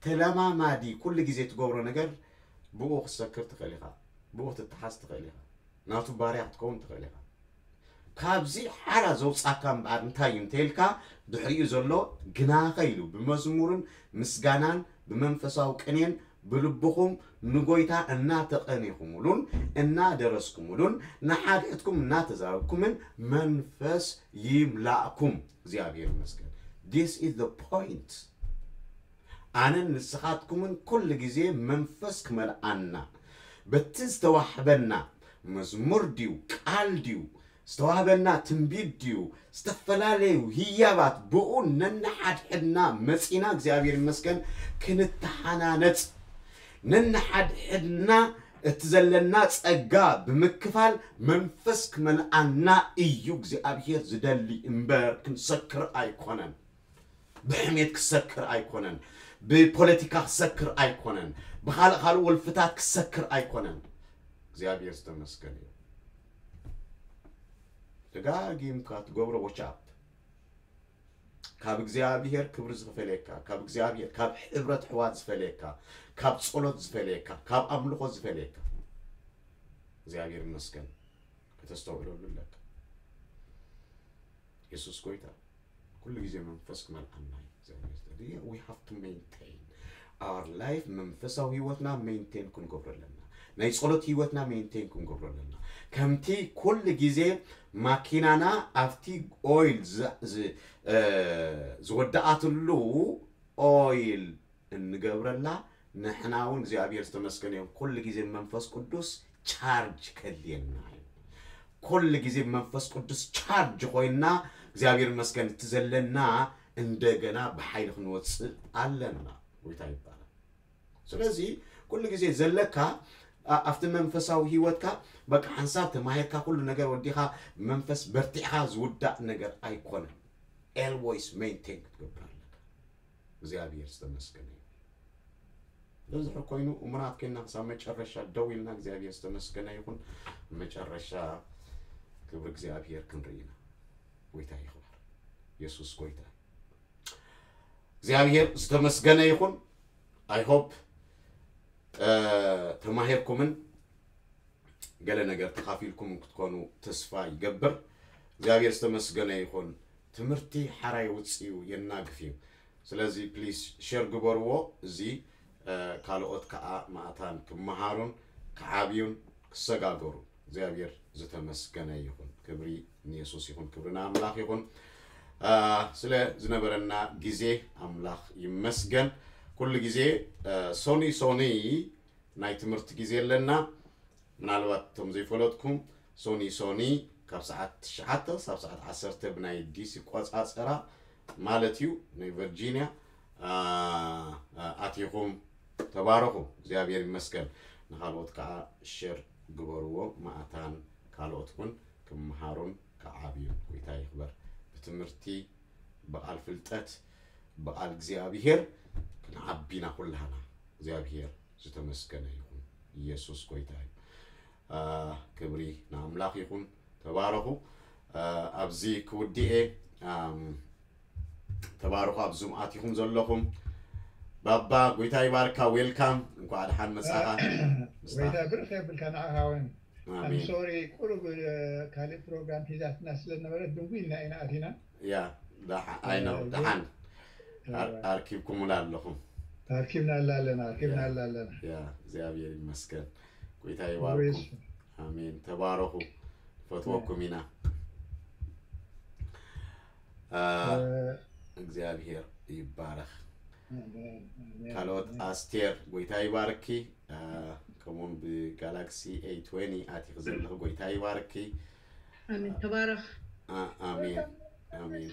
ተለማማዲ ኩሉ ግዜ ትገብሮ ነገር ብኡ ክትሰክር ትኽእል ኢኻ፣ ብኡ ክትተሓዝ ትኽእል ኢኻ፣ ናቱ ባርያ ክትከውን ትኽእል ኢኻ። ካብዚ ሓራ ዘውጻካ እምበኣር እንታይ እዩ እንተኢልካ፣ ድሕሪኡ ዘሎ ግናኸ ኢሉ ብመዝሙርን ምስጋናን ብመንፈሳዊ ቅኔን ብልብኹም ንጎይታ እናተቐኔኹምሉን እናደረስኩምሉን ንሓድሕድኩም እናተዛረብኩምን መንፈስ ይምላእኩም። እግዚኣብሔር ይመስገን። This is the point። ኣነን ንስኻትኩምን ኩሉ ግዜ መንፈስ ክመልኣና በቲ ዝተዋህበና መዝሙር ድዩ ቃል ድዩ ዝተዋህበና ትንቢት ድዩ ዝተፈላለዩ ህያባት ብኡ ነንሓድሕድና መጺና እግዚኣብሔር ይመስገን ክንተሓናነጽ ነንሓድሕድና እቲ ዘለና ጸጋ ብምክፋል መንፈስ ክመልኣና እዩ እግዚኣብሔር ዝደሊ እምበር ክንሰክር ኣይኮነን። ብሕሜት ክሰክር ኣይኮነን፣ ብፖለቲካ ክሰክር ኣይኮነን፣ ብኻልእ ካልእ ወልፍታት ክሰክር ኣይኮነን። እግዚኣብሔር ዝተመስገነ እዩ። ደጋጊምካ ትገብሮ ወቻፕ ካብ እግዚኣብሔር ክብሪ ዝፈለየካ፣ ካብ እግዚኣብሔር ካብ ሕብረት ሕዋት ዝፈለየካ፣ ካብ ጸሎት ዝፈለየካ፣ ካብ ኣምልኾ ዝፈለየካ እግዚኣብሔር ይመስገን። ከተስተውዕለሉ ኣለካ። የሱስ ጎይታ ኩሉ ግዜ መንፈስ ክመልኣና እዩ። We have to maintain our life። መንፈሳዊ ህይወትና ሜንቴን ክንገብሮ ኣለና። ናይ ጸሎት ህይወትና ሜንቴን ክንገብሮ ኣለና። ከምቲ ኩሉ ግዜ ማኪናና ኣብቲ ኦይል ዝወደኣትሉ ኦይል እንገብረላ ንሕና እውን እግዚኣብሔር ዝተመስገነ እዮም። ኩሉ ግዜ መንፈስ ቅዱስ ቻርጅ ከድልየና እዩ። ኩሉ ግዜ መንፈስ ቅዱስ ቻርጅ ኮይንና እግዚኣብሔር ይመስገን እቲ ዘለና እንደገና ብሓይሊ ክንወፅእ ኣለና። ጎይታ ይባላል። ስለዚ ኩሉ ግዜ ዘለካ ኣብቲ መንፈሳዊ ህይወትካ በቃ ሓንሳብ ተማሂርካ ኩሉ ነገር ወዲኻ መንፈስ በርቲዕካ ዝውዳእ ነገር ኣይኮነን። ኤልወይስ ሜንቴን ክትገብር ኣለካ። እግዚኣብሔር ዝተመስገነ ይሁን። በዝሑ ኮይኑ እሙናት ኮይና ክሳብ መጨረሻ ደው ኢልና እግዚኣብሔር ዝተመስገነ ይኹን። መጨረሻ ክብሪ እግዚኣብሔር ክንርኢ ኢና። ጎይታ ይኽበር። የሱስ ጎይታ። እግዚኣብሔር ዝተመስገነ ይኹን። I hope ተማሂርኩምን ገለ ነገር ተኻፊልኩም ክትኮኑ ተስፋ ይገብር። እግዚኣብሔር ዝተመስገነ ይኹን። ትምህርቲ ሓራይ ውፅኡ የናግፍ እዩ። ስለዚ ፕሊስ ሸር ግበርዎ። እዚ ካልኦት ከዓ ማእታን ክመሃሩን ክዓብዩን ክሰጋገሩ እግዚኣብሔር ዝተመስገነ ይኹን። ክብሪ ንየሱስ ይኹን። ክብሪ ንኣምላኽ ይኹን። ስለ ዝነበረና ግዜ ኣምላኽ ይመስገን። ኩሉ ግዜ ሶኒ ሶኒ ናይ ትምህርቲ ግዜ ኣለና። ምናልባት እቶም ዘይፈለጥኩም ሶኒ ሶኒ ካብ ሰዓት ትሽዓተ ሳብ ሰዓት ዓሰርተ ብናይ ዲሲ ቆፃፀራ ማለት እዩ ናይ ቨርጂኒያ ኣቲኹም ተባረኹ። እግዚኣብሔር ይመስገን። ንካልኦት ከዓ ሸር ግበርዎ። ማእታን ካልኦት እውን ክመሃሩን ክዓብዩን። ጎይታ ይኽበር። ብትምህርቲ ብቃል ፍልጠት ብቃል እግዚኣብሔር ክንዓቢና ኩላህና እግዚኣብሔር ዝተመስገነ ይኹን። ኢየሱስ ጎይታ እዩ። ክብሪ ንኣምላኽ ይኹን። ተባረኹ። ኣብዚ ክውድኤ ተባረኹ። ኣብ ዙም ኣቲኹም ዘለኹም ባባ ጎይታ ይባርካ። ዌልካም፣ እንኳዕ ደሓን መጻኻ። ጎይታ ብርኽ የብልካ ንዓኻ እውን። ኣሜን። ሶሪ ቁሩብ ካልእ ፕሮግራም ሒዛትና ስለነበረት ድንጉ ኢልና ኢና ኣቲና። ያ I know። ደሓን ኣርኪብኩምና ኣለኹም። ኣርኪብና ኣላ ኣለና ኣርኪብና ኣላ ኣለና። ያ እግዚኣብሔር ይመስገን። ጎይታ ይባርኩም። ኣሜን። ተባረኹ። ፈትወኩም ኢና። እግዚኣብሔር ይባረኽ። ካልኦት ኣስቴር ጎይታ ይባርኪ። ከምኡውን ብጋላክሲ ኤ ትዌንቲ ኣቲኺ ዘለኺ ጎይታ ይባርኪ። ኣሜን። ተባረኽ። ኣ- ኣሜን ኣሜን።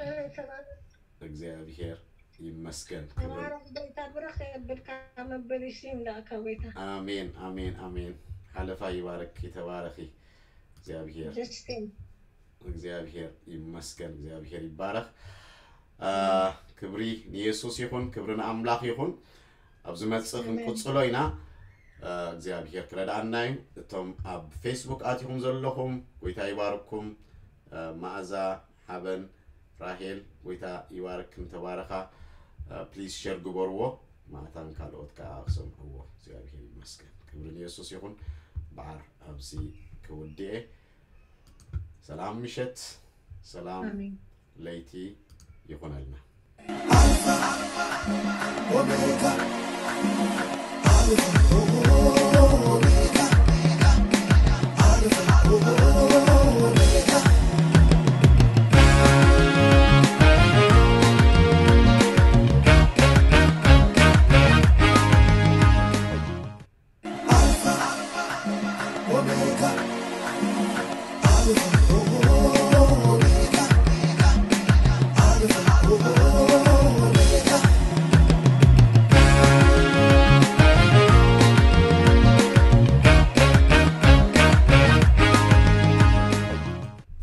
እግዚኣብሔር ይመስገን። ክብሪ ተባረኽ ጎይታ፣ ብርኽ የብልካ መበል ይስይም ደኣ ካብ ጎይታ። ኣሜን ኣሜን ኣሜን። ሓለፋ ይባርክ፣ ተባረኺ። እግዚኣብሔር ደስቴ እግዚኣብሔር ይመስገን፣ እግዚኣብሔር ይባረኽ። አ፣ ክብሪ ንየሱስ ይኹን፣ ክብሪ ንኣምላኽ ይኹን። ኣብ ዝመጽእ ክንቅጽሎ ኢና። አ፣ እግዚኣብሔር ክረድኣና እዩ። እቶም ኣብ ፌስቡክ ኣቲኹም ዘለኹም፣ ጎይታ ይባርኩም። አ፣ መኣዛ፣ ሓበን፣ ራሄል፣ ጎይታ ይባርክን ተባረኻ። አ፣ ፕሊዝ ሸር ግበርዎ፣ ማእታን ካልኦት ከኣ ክሰምዕዎ። እግዚኣብሔር ይመስገን፣ ክብሪ ንየሱስ ይኹን። በዓር ኣብዚ ክውድኤ። ሰላም ምሸት፣ ሰላም ኣሜን። ለይቲ ይኹነልና።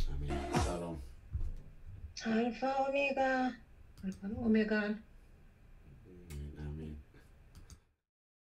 ኣሜን። ሻሎም። ኣልፋ ኦሜጋ፣ ኣልፋን ኦሜጋን።